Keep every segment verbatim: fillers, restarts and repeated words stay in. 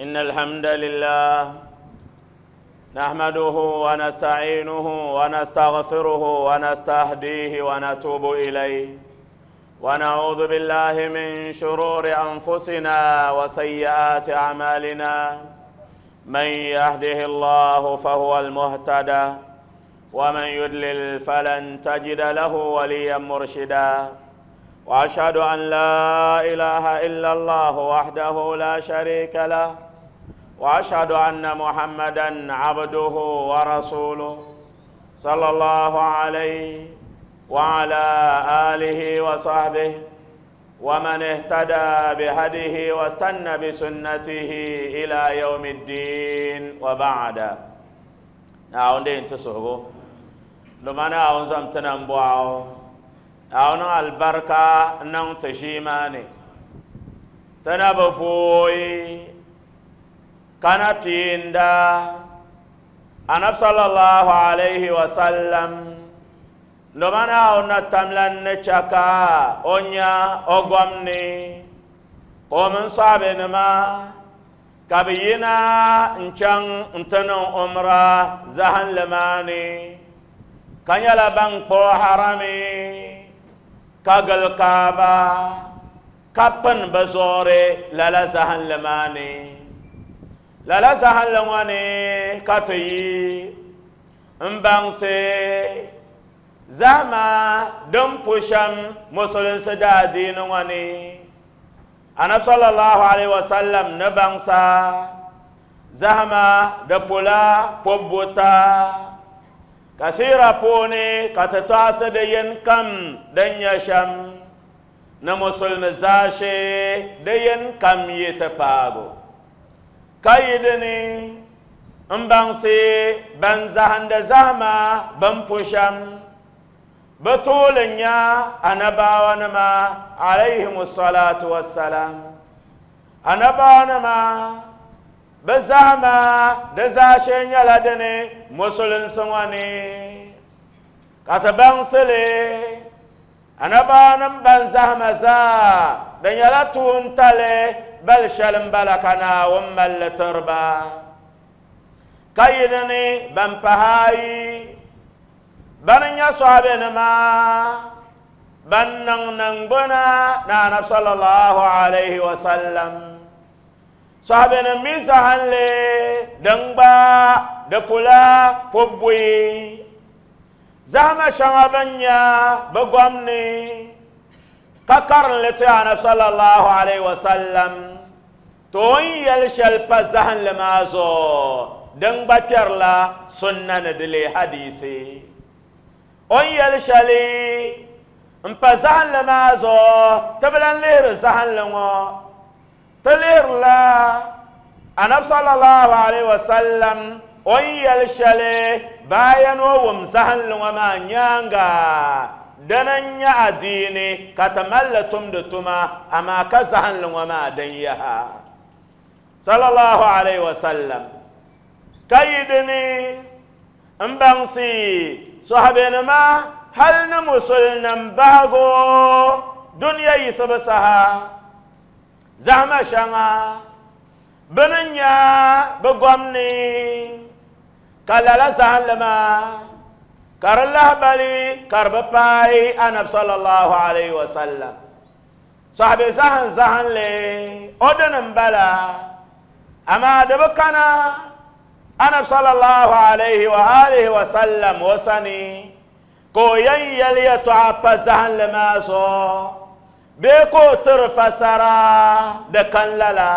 إن الحمد لله نحمده ونستعينه ونستغفره ونستهديه ونتوب إليه ونعوذ بالله من شرور أنفسنا وسيئات أعمالنا من يهده الله فهو المهتدى ومن يضلل فلن تجد له وليا مرشدا وأشهد أن لا إله إلا الله وحده لا شريك له وأشهد أن محمدا عبده ورسوله صلى الله عليه وعلى آله وصحبه ومن اهتدى بهديه واستنى بسنته إلى يوم الدين وبعد. نعم تسهبو لما نعم زمتنا مبواو نعم البركة نعم تشيماني تنبفوي كان بيندا أنا صلى الله عليه وسلم لما نعم تملن نشكا أنيا أغمني قوم صابنما كبينا نشان نتنو أمرا زهن لماني كان يلا بانكو حرامي كغل كابا كابن بزوري لالا زهن لماني لالا زهن لماني كاتي مبانسي زهما دم بوشم مسلم سدادين واني أنا صلى الله عليه وسلم نبانسا زهما دپولا پوبوتا كثيرا پوني كتتاس دين كم دنيا شم نمسلم زاشي دين كم يتپاغو كايدني مبانسي بنزهند زهما بمپوشم بطولنيا أنا باونما عليهم الصلاة والسلام أنا باونما بزهما دزاشين يلدني مسلم سواني كتبان سلي أنا باونم بنزهما زا دنيا تونتالي بل شلم بلكنا ومل تربا كايدني بمبهاي بنيا صحابنا ما بنن ننبنا نانا صلى الله عليه وسلم صحابنا ميزهن لي دنبا دپولا پوبوي زهما شمابنيا بغمني ككرن لتانا صلى الله عليه وسلم توي الشلب زهن لمازو دنبا كرلا سنة دلي حديثي on yɛli shɛli n pa zahinli maa zuɣu ti bi lan lihiri zahinli ŋɔ ti lihirila anabi sallallahu alaihi wasallam on yɛli shɛli bayan o wum zahinli ŋɔ maa nyaanga dina n nyɛ adiini ka ti malli tumdi tuma amaa ka zahinli ŋɔ maa din yaha sallallahu alaihi wasallam ka yi dini n baŋsi صحابينما هل نمسلنا باغو دنيا يسبسها زعما شانا بننيا بغمني كلالا زعلما كارله بالي كرباي انا صلى الله عليه وسلم صحابي زهن زهن لي اودن بلا اما دبكنا أنا صلى الله عليه وآله وسلم وسني كو يلي يتعب زهن لماسو بيكو ترفسرا دكان لالا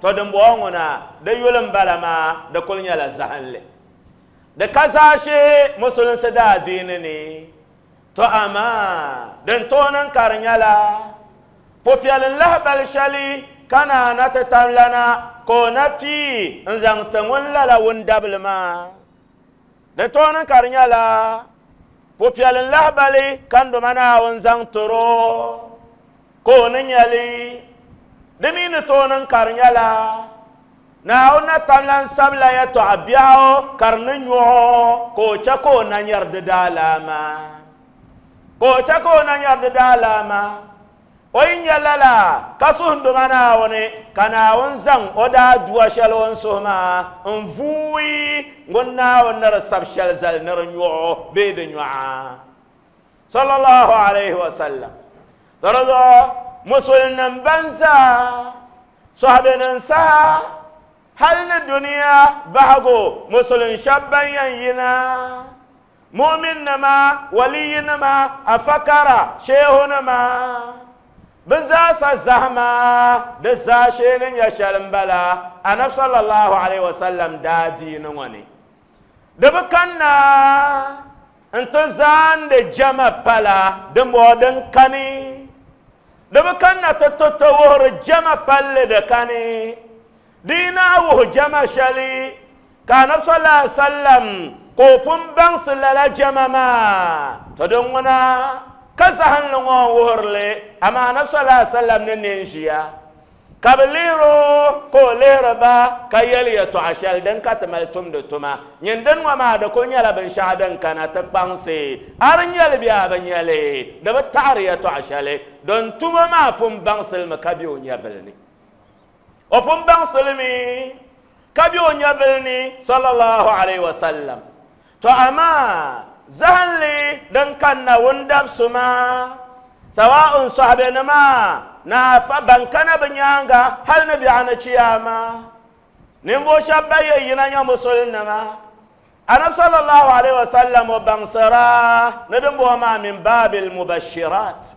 تودن بوغنا ديولن بلما دكول نيالا زهن لي دكازاشي مسلم سدا دينني تو أما دن تونن كارنيالا بوبيال الله بالشالي كان نتتم لنا كونا بي نزان تنون لالا وندبل ما دتونا كارنيالا بوبيال الله بالي كان دومانا ونزان ترو كونا نيالي دمين تونا كارنيالا ناونا تملان سبلا يتو أبياو كارنيو كوچا كونا نيرد دالاما كوچا كونا نيرد دالاما O yi nya lala ka suhunduma Naawuni ka Naawuni zaŋ o daa dua shɛli o ni suhi maa n vuui ŋun Naawuni ni di sabi shɛli zali ni di nyɔɣu bee di nyɔɣa. Sallallahu alayhi wa sallam. To di zuɣu musulnim ban zaa sɔhibinim saha hali ni duniya bahigu musulin shɛba ban yɛn yina mu'min nima waliyi nima afakara shehu nima bi zaasa zahama di zaashee ni nyɛ shɛli n bala anabi sallallahu alayhi wa sallam daa diini ŋɔ ni di bi kanna n ti zaandi jama pala dimbɔŋɔ din kani di bi kanna ti ti ti wuhiri jama palli di kani di yi naa wuhi jama shɛli ka anabi sallallahu alayhi wa sallam ka o pun baŋsi lala jama maa to din ŋuna ka zahinli ŋɔ n wuhirili amaa anabi sallallahu alayhi wa sallam ni neen ʒiya ka bi lihiro ka o lihiri ba ka yɛli yɛltɔɣa shɛli din ka ti mali tumdi tuma nyin din ŋɔ maa di kuli nyɛla binshaɣu din kana ti kpaŋsi a di nyɛli bee a bi nyɛli di bi taɣari yɛltɔɣa shɛli din tuma maa pun baŋsilimi ka be o nyɛvili ni o pun baŋsilimi ka be o nyɛvili ni sallallahu alayhi wa sallam. To amaa zahinli din kanna wundabsuma sawa'un sahabenima na fa ban kana bi nyaanga hal ni biɛɣu ni chiyama ninvuɣu shɛba ban yɛn yina nyɛ musulinima anabi sallallahu alayhi wa sallam o baŋsira ni din bɔŋɔ maa min baabil mubashirat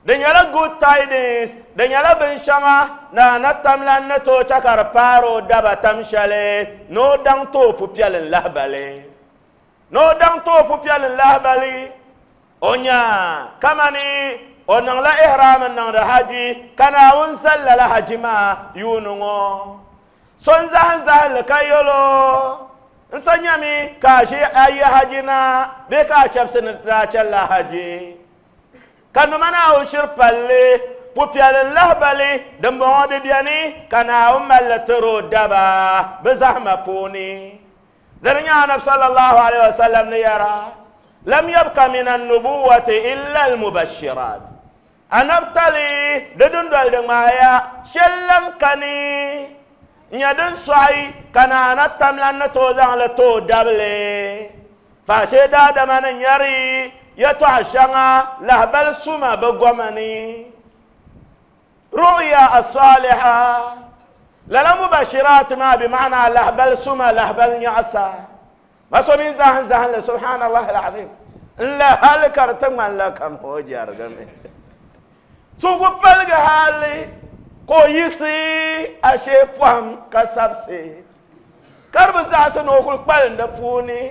di nyɛla good tidings di nyɛla binshɛŋa na na tamlan ni tooi chɛ ka di paari o daba tam shɛli ni o daŋ tooi pupiɛli n lahibali ni o daŋ tooi pupiɛli n lahibali o nya kamani o niŋla ihram n niŋdi haji ka Naawuni zali lala haji maa yuuni ŋɔ so n zahim zahinli ka yɛlo n sa nyami ka a ʒi a yi haji na bee ka a chɛbisi ni daa chɛlila haji ka nima Naawuni shiri palli pupiɛli n lahibali din bɔŋɔ di bɛni ka Naawuni malli tiri o daba bi zahima puuni dini nyɛ anabi sallallahu alayhi wa sallam ni yɛra lam yabqa min an-nubuwati illa al-mubashirat anabtali di dundoli di ŋmaaya shɛli lan kani n nyɛ din sɔɣi ka naana tamlan ni tooi zaŋli tooi dabili faashee daadama ni nyɛri yɛltɔɣa shɛŋa lahibali suma bi goma ni ru'ya as-saliha lala mubashirat maa bi ma'ana lahibali suma lahibali nyaɣasa ma so min zahim zahinli subhanallah al-azim n la hali ka di ti ŋmanila kam o jɛrigimi so ku paligi hali ka o yiɣisi ashee pɔhim ka sabisi ka di bi zaɣisi ni o kuli kpalim di puuni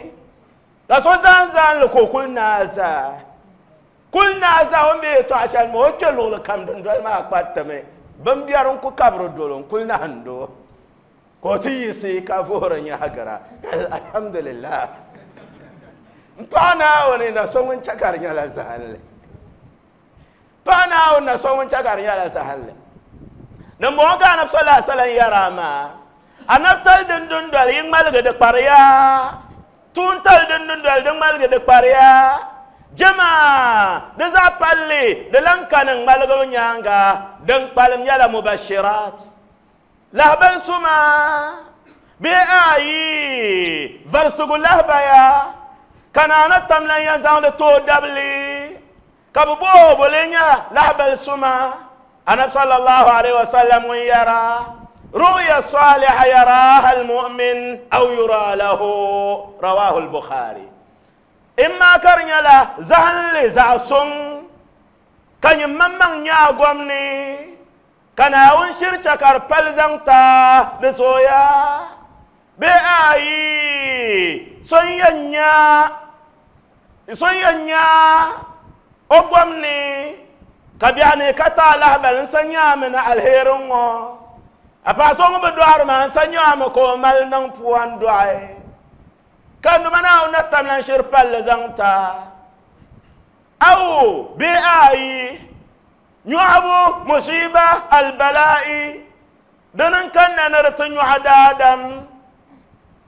ka so zahim zahinli ka o kuli naai zaa kuli naai zaa o ni be yɛltɔɣa shɛli maa o kpɛ luɣuli kam dundoli maa kparitimi bin biɛri n ku kabiri dolo n kuli nahando ka o ti yiɣisi ka vuhiri nyaɣagira alhamdulillah n paɣa Naawuni na so ŋun chɛ ka di nyɛla zahinli paɣa Naawuni na so ŋun chɛ ka di nyɛla zahinli din bɔŋɔ ka anabi sallallahu alayhi wa sallam yɛra maa anabitali din dundoli yi ŋmaligi di kpariya tuuntali din dundoli di ŋmaligi di kpariya jama di zaɣ palli di lan kani ŋmaligibu nyaanga din kpalim nyɛla mubashirat lahibali suma bee ayi varisigu lahibaya ka naana tamlan yɛn zaŋdi tooi dabili ka bi booi bo lee nyɛ lahibali suma anabi sallallahu alayhi wa sallam ŋun yɛra ru'ya saliha yaraha almu'min aw yura lahu rawahu al-Bukhari imma ka di nyɛla zahinli zaɣ suŋ ka nyin maŋmaŋ nyɛ a gom ni ka Naawuni shiri chɛ ka di pali zaŋ ta di zooya bee ayi so n yɛn nya so n yɛn nya o gom ni ka biɛɣu ni ka taa lahibali n sa nyaami ni alheeri ŋɔ a paɣa so ŋun bi dɔɣiri maa n sa nyaami ka o mali niŋ pua n dɔɣi ka nima Naawuni na tamlan shiri palli zaŋ ta aw bee ayi nyɔɣubu musiba albala'i dini n kanna ni di ti nyɔɣu daadam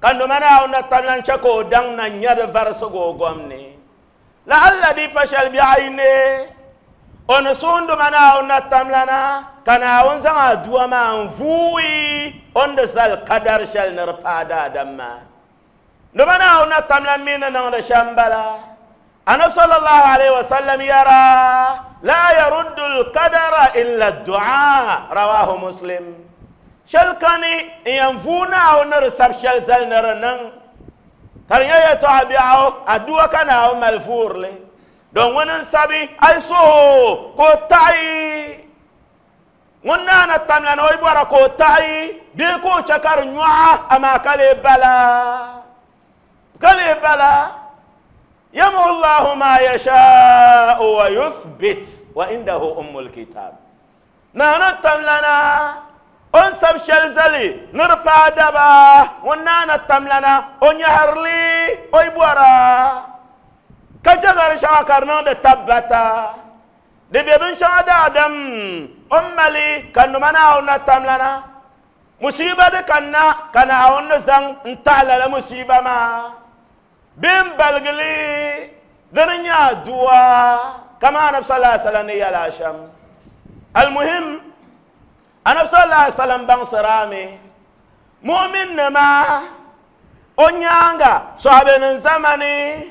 ka nima Naawuni na tamlan chɛ ka o daŋ na nya di varisigu o gom ni la'alla di pa shɛli biɛɣu yi ne O ni suhunduma Naawuni na tamlana ka Naawuni zaŋ aduwa maa n-vuui o ni di zali kadari shɛli ni di paai daadam maa. Nima Naawuni na tamlan mi ni niŋdi shɛm bala. Anabi sallallahu alayhi wa sallam yara la yaruddu al-qadara illa ad-du'a, rawahu Muslim. Shɛli kani n yɛn vuui Naawuni ni di sabi shɛli zali ni di niŋ ka di nyɛ yɛltɔɣa biɛɣu aduwa ka Naawuni mali vuurili. Don ŋuni n sabi a yi suhu ka o taɣi ŋun naana tamlana o yi bɔra ka o taɣi bee ka o chɛ ka di nyɔɣa amaa ka lee bala ka lee bala yamhu Allahu ma yasha'u wa yuthbit wa indahu ummul kitab. Naana tamlana o ni sabi shɛli zali ni di paai daba ŋun naana tamlana o nyɛhirili o yi bɔra ka jagari shɛŋa ka di niŋdi tabbata di be binshɛŋa daadam o ni mali ka nima Naawuni na tamlana musiba di kanna ka Naawuni ni zaŋ n taɣi lala musiba maa bee n baligili dini n nyɛ aduwa kama Anabi sallallahu alaihi wasallam ni yɛla shɛm. Almuhim Anabi sallallahu alaihi wasallam baŋsirami mu'min nima o nyaanga sahabenim zamani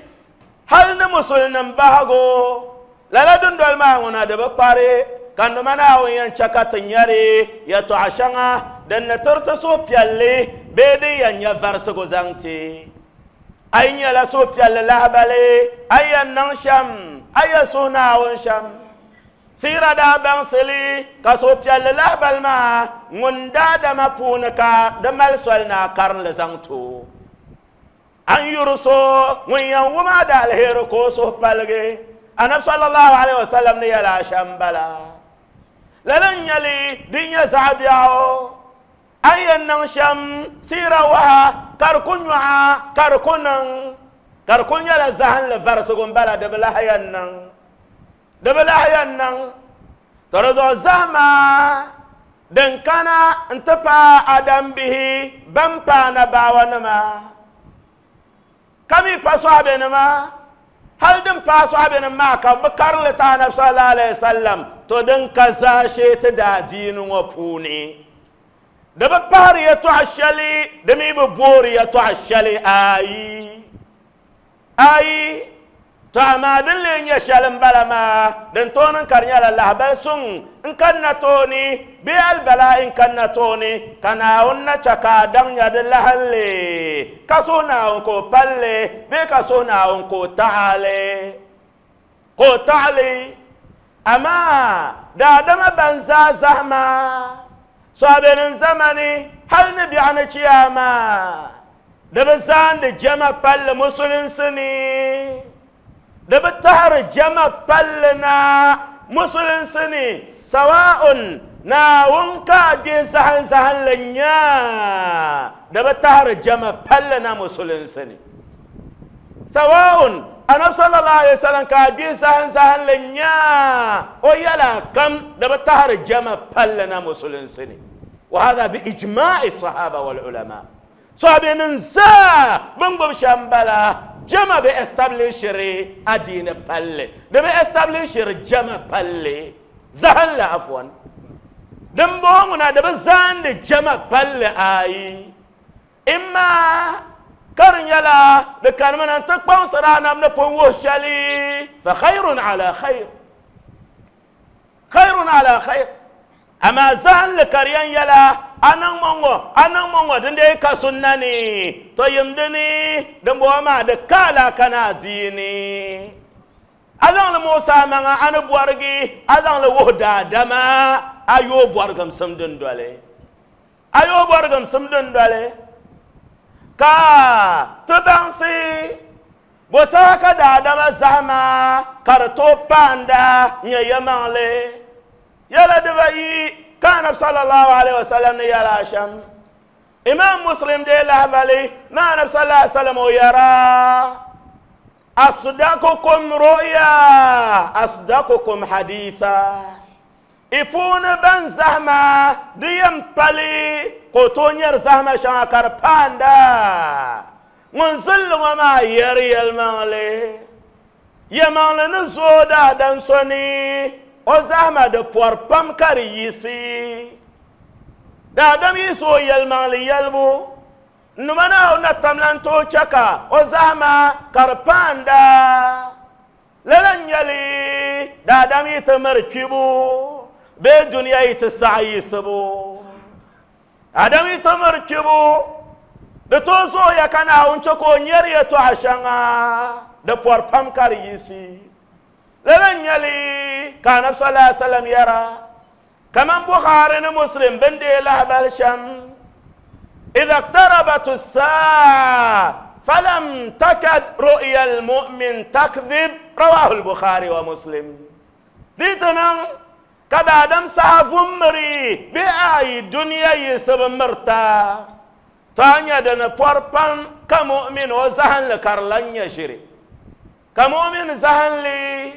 hal ni musulnim bahagu lala dundoli maa ŋuna di bi kpari ka nima Naawuni yɛn chɛ ka ti nyɛri yɛltɔɣa shɛŋa din ni tiriti suhupiɛlli bee din yɛn nyɛ varisigu zaŋ ti a yi nyɛla suhupiɛlli lahabali a yi yɛn niŋ shɛm a yɛn suhi Naawuni shɛm. Siira daa baŋsili ka suhupiɛlli lahabali maa ŋun daadama puuni ka di mali soli ni a karinli zaŋ ti o. An yuri so ŋun yɛn wum a da alheri ka o suhu paligi. Anabi sallallahu alaihi wasallam ni yɛla shɛm bala. Lala n nyɛli din nyɛ zaɣ biɛɣu an yɛn niŋ shɛm siira waha ka di ku nyɔɣa ka di ku niŋ ka di ku nyɛla zahinli varisigu n bala di bi lahi yɛn niŋ di bi lahi yɛn niŋ. To di zuɣu zahima din kana n ti paai adam bihi ban paana baawanima ka mi pa sɔhibenima hali din paai sɔhibenim maa ka bi karinli ti Anabi sallallahu alaihi wasallam to din ka zaashee ti daadiini ŋɔ puuni di bi pahiri yɛltɔɣa shɛli di mi bi boori yɛltɔɣa shɛli ayi ayi. To amaa din lee nyɛ shɛli n bala maa din tooni ka di nyɛla lahabali suŋ n kanna tooni bee albalaa'i n kanna tooni ka Naawuni na chɛ ka a daŋ nya di lahalli ka suhi Naawuni ka o palli bee ka suhi Naawuni ka o taɣali ka o taɣali. Amaa daadama ban zaa zahima sɔhabenim zamani hali ni biɛɣu ni chiyaama di bi zaandi jama palli musulinsi ni di bi tahiri jama palli na musulinsi ni sawa'un Naawuni ka a gbe zahin zahinli nyaa di bi tahiri jama palli na musulinsi ni sawa'un Anabi sallallahu alaihi wasallam ka a gbe zahin zahinli nyaa o yɛla kam di bi tahiri jama palli na musulinsi ni. Wa hadha bi ijma'i sahaba wal ulama. Sahabenim zaa bin gbubi shɛm bala jama bi establishiri adiini palli di bi establishiri jama palli zahinli afwan din bɔŋɔ ŋuna di bi zaandi jama palli ayi imma ka di nyɛla di kanimi na n-ti kpaŋsiri anab ni pun wuhi shɛli fa khayrun ala khayr khayrun ala khayr. Amaa zahinli ka di yɛn yɛla a niŋ ŋɔ a niŋ ŋɔ din dee ka sunna ni to yim dini din bɔŋɔ maa di ka alaka ni adiini a zaŋli muɣusi a maŋa a ni bɔrigi a zaŋli wuhi daadama a yooi bɔrigimsim dindoli a yooi bɔrigimsim dindoli ka ti baŋsi bo saha ka daadama zahima ka di tooi paanda nyɛ yɛmaŋli yɛla dibayi ka Anabi sallallahu alaihi wasallam ni yɛla shɛm. Imam Muslim dee lahabali ni Anabi sallallahu alaihi wasallam o yɛra asdaqukum ru'ya asdaqukum haditha i puuni ban zahima di yɛn pali ka o tooi nyɛri zahima shɛŋa ka di paanda ŋun zilli ŋɔ maa yɛri yɛlimaŋli yɛlimaŋli ni zooi daadam so ni o zahama di pɔri pam ka di yiɣisi daadam yiɣisi o yɛlimaŋli yɛlibu nima Naawuni na tamla n-tooi chɛ ka o zahama ka di paanda lala n-nyɛli daadam yi ti miri kpibu bee duniya yi ti saɣi yiɣisibu daadam yi ti miri kpibu di tooi zooya ka Naawuni chɛ ka o nyɛri yɛltɔɣa shɛŋa di pɔri pam ka di yiɣisi lala n-nyɛli ka anabi sallallahu alaihi wasallam yɛra kaman Bukhari ni Muslim bin deei lahabali shɛm إذا اقتربت الساعة فلم تكد رؤيا المؤمن تكذب رواه البخاري ومسلم ديتنا كدا دم سافمري بأي دنيا يسب مرتا تانيا دنا بوربان كمؤمن وزهن لكارلان يشري كمؤمن زهن لي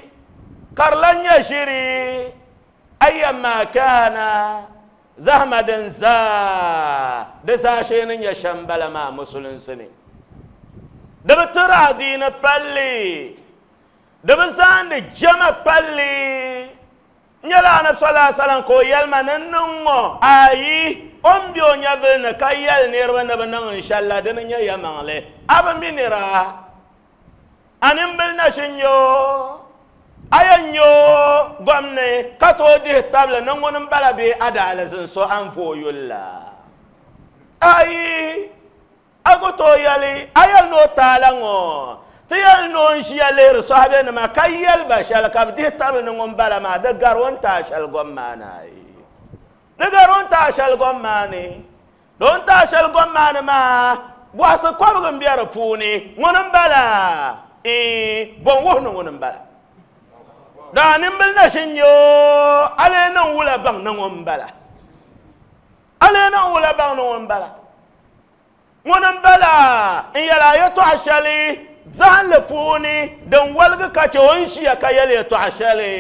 كارلان يشري أيما كان زهما دنزا دساشين يشمبل ما مسلم سني دبترا دين بالي دبزان جمع بالي نيلا أنا صلى الله عليه وسلم كو يلما ننمو أي أم بيو نيبل نكايل نيرو نبنن إن شاء الله دين نيا يمانلي أبا مينيرا أنم بلنا شنيو ayan yo gwamne ka to dihi tabili ni ŋuni m-bala bee adaalizin so anfooyulla ayi a ku tooi yɛli a yɛli ni o taala ŋɔ ti yɛli ni o n ʒiya lihiri sɔhibenima ka yɛli ba shɛli ka bi dihi tabili ni ŋun bala maa di gari o ni taai shɛli gom maa ni ayi di gari o ni taai shɛli gom maa ni di o ni taai shɛli gom maa ni maa bɔhisi kɔbigi m-be di puuni ŋuni m-bala bɔn wuhi ni ŋuni m-bala da nimbil na shin yo ale nan wula bang na ŋun bala ale nan wula bang na ŋun bala ŋun bala n yɛla yɛltɔɣa shɛli zahinli puuni din waligi ka chɛ o ni ʒiya ka yɛli yɛltɔɣa shɛli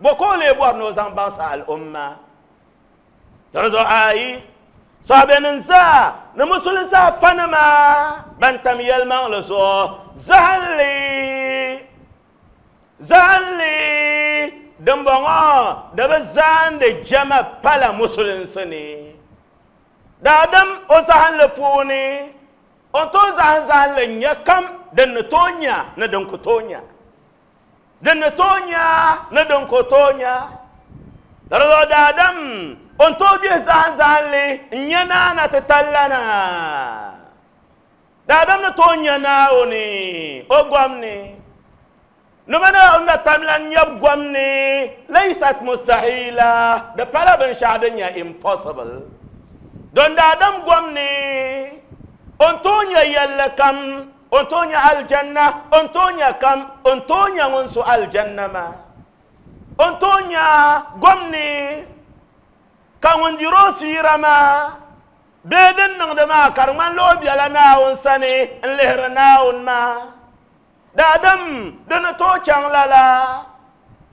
bɔ ka o lee bɔri ni o zaŋ baŋsi al'umma di zuɣu ayi sahabenim zaa ni musulinsi afanima ban tam yɛlimaŋli zuɣu zahinli zahinli dimbɔŋɔ di bi zaandi jama pala musulinsi ni daadam o zahinli puuni o tooi zahim zahinli n-nyɛ kam din ni tooi nya ni din ku tooi nya din ni tooi nya ni din ku tooi nya di zuɣu daadam o ni tooi bihi zahim zahinli n-nyɛ naana ti tallana daadam ni tooi nya Naawuni o gom ni نمنا أن تملن يبغمني ليست مستحيلة ده pala binshaɣu din nyɛ impossible don daadam gomni o ni tooi nyɛ yɛlli kam o ni tooi nyɛ aljanna o ni tooi nyɛ kam o ni tooi nyɛ ŋun su aljanna maa o ni tooi nyɛ gomni ka ŋun diri o fiira maa bee din niŋdi maa ka di ŋmanila o bela Naawuni sani n lihiri Naawuni maa daadam di ni tooi chaŋ lala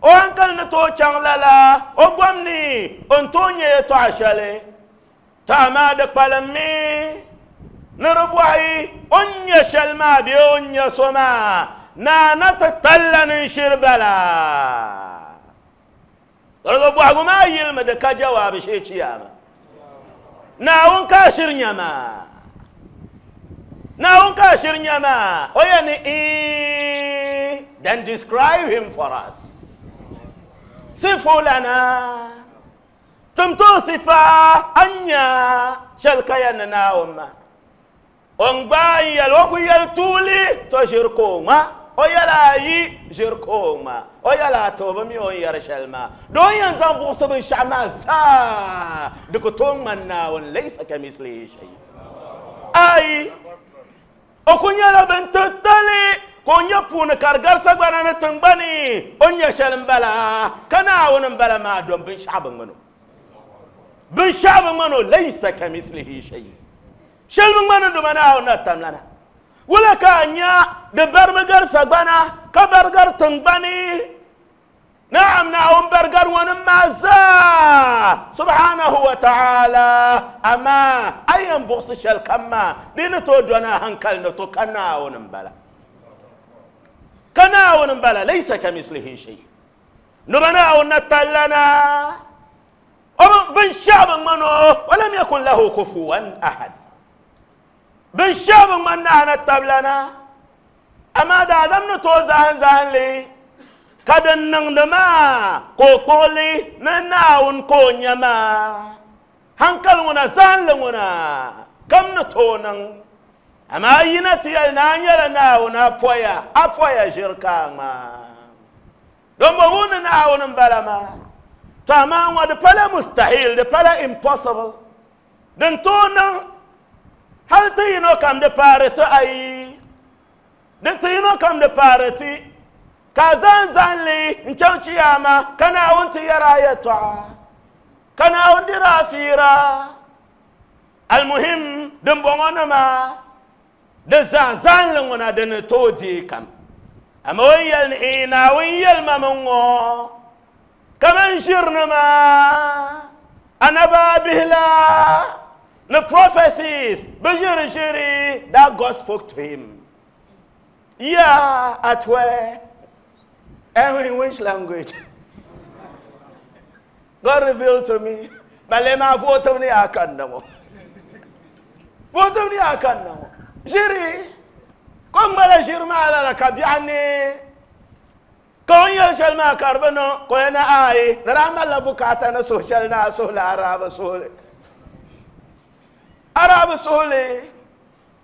o hankali ni tooi chaŋ lala o gomni o ni tooi nyɛ yɛltɔɣa shɛli to amaa di kpalimmi ni di bɔhi o ni nyɛ shɛli maa bee o ni nyɛ so maa naana ti talla ni n-shiri bala di zuɣu bɔhigu maa yilimi di ka jawaabi shee chiyaama Naawuni ka a shiri nya maa Naawuni ka a shiri nya maa o yɛn ni then describe him for us sifu lana tim tooi sifa a nya shɛli ka yɛn ni Naawuni maa o ni gbaai n yɛli o ku yɛli tuuli to ʒiri ka o ŋma o yɛla ayi ʒiri ka o ŋma o yɛla ata o bi mi o ni yɛri shɛli maa di o ni yɛn zaŋ buɣisi binshaɣu maa zaa di ku tooi ŋmani Naawuni laysa kamislihi shay ayi o ku nyɛla bin titali ka o nyɛ puuni ka di gari sagbana ni tingbani o ni nyɛ shɛli m-bala ka Naawuni m-bala maa dom binshaɣu bi ŋmani o binshaɣu bi ŋmani o laysa kamithlihi shay shɛli bi ŋmani duma Naawuni na tamlana wula ka a nya di barimi gari sagbana ka bari gari tingbani نعم نعم برجر ونما زا سبحانه وتعالى أما أيام بغص شل كما دين تودنا هنكل نتو كنا ونبلا كنا ونبلا ليس كمثله شيء. Nubana natallana bin shab mano walam yakun lahu kufuwan ahad bin shab man ana tablana amma da adam no to zahan zahan li kadan nan da ma ko koli na naun ko nyama hankal ngona zan le ngona kam no to nan amma yina tiyal na nyala naun apoya apoya jirka ma don bo wona naun balama to amma wa da pala mustahil da pala impossible dan to nan hal ti yino kam da pare to ayi dan ti yino kam da pare ti ka zan zan li n chaŋ chiyama ka Naawuni ti yɛra a yɛltɔɣa ka Naawuni dira a fiira almuhim din bɔŋɔ nima di zaa zanli ŋuna di ni tooi deei kam amma o ni yɛli ni ee Naawuni yɛlima mi ŋɔ kaman ʒirinima anabaabihi la ni prophecies bi ʒiri ʒiri that God spoke to him. Yeah, at where? And in which language? God revealed to me. But let me vote me I can no. Vote me I can no. Jiri. Kom mala jirma ala la kabiani. Kon yel shal ma karbano ko na ai rama la bukata na social na so la araba sole. Araba sole.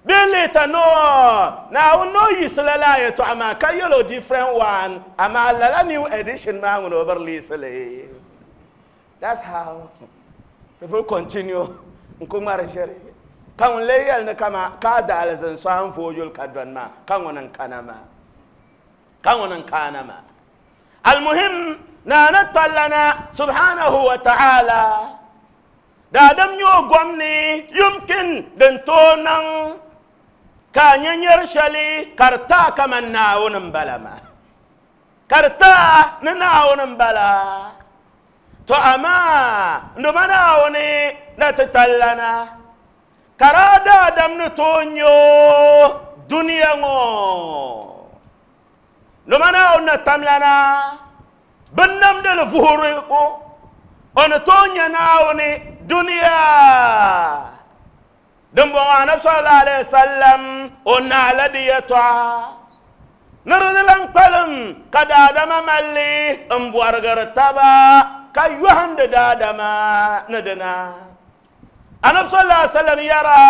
Bilita no now no yisla ya to ama ka yellow different one ama la new edition ma ngono over. That's how people continue nkumara jere kan leyal na kama ka dalazan so han fojol kadwan ma kan wonan kanama kan wonan kanama almuhim na natallana subhanahu wa ta'ala da dam nyo gwamni yumkin den tonan ka nyanyar shali karta kaman naawunin bala ma karta ni naawunin bala to amma nduma naawuni na ti tallana kara daadam ni tooi nyo duniya ŋɔ nduma naawuni na tamlana bin namdili vuhiri ko o ni tooi nya naawuni duniya din bɔŋɔ anabi sallallahu alaihi wasallam o naala di yɛltɔɣa ni di lan kpalim ka daadama malli n bɔrigiri taba ka yɔhindi daadama ni dina anabi sallallahu alaihi wasallam yɛra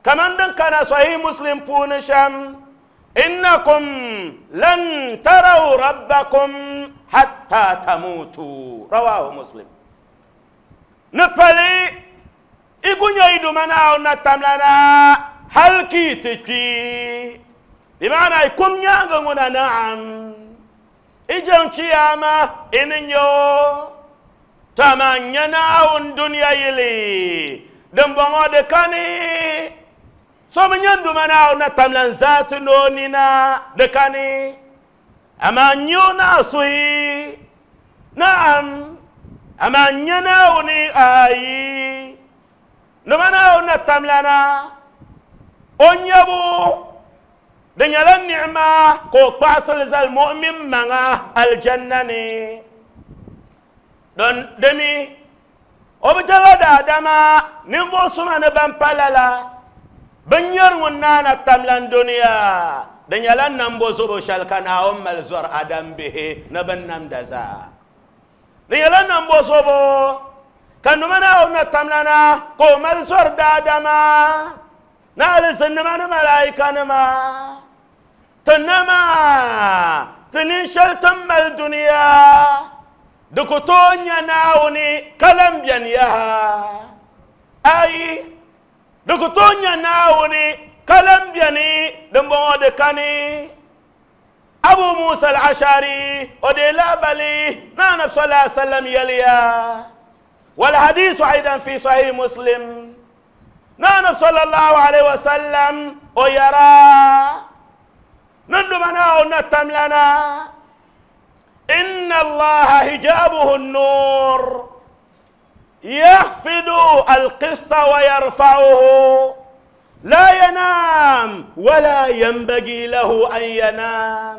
kaman din kana sahih muslim puuni shɛm innakum lan taraw rabbakum hatta tamutu rawahu muslim ni pali igunya idumana na tamlana halki ti bimana ikum nyanga nguna na'am ijan chiyama ininyo tamanya na on dunya yili dembongo de kani so manyan na tamlan zatu no nina de kani ama nyona sui na'am ama nyana oni ayi numana ona tamlana onyabu dinyala ni'ma ko qasal zal mu'min manga aljanna ni don demi objala da dama nimbo suma ne ban palala banyar wonna tamlan dunya dinyala nambo zobo shalkana ummal zor adam bihi nabannam daza dinyala nambo zobo kanumana ona tamlana ko mal zor da dama na alzannama na malaika nama tanama tinin shaltan mal dunya dukutonya nauni kalam bian yaha ai dukutonya nauni kalam biani dumbo de kani Abu Musa al-Ashari ode labali na Nabi sallallahu alaihi wasallam yaliya wal hadith aidan fi sahih Muslim na sallallahu alaihi wasallam o yara nandumana o natamlana inna allaha hijabuhu an-nur yakhfidu al-qista wa yarfa'uhu la yanam wa la yanbaghi lahu an yanam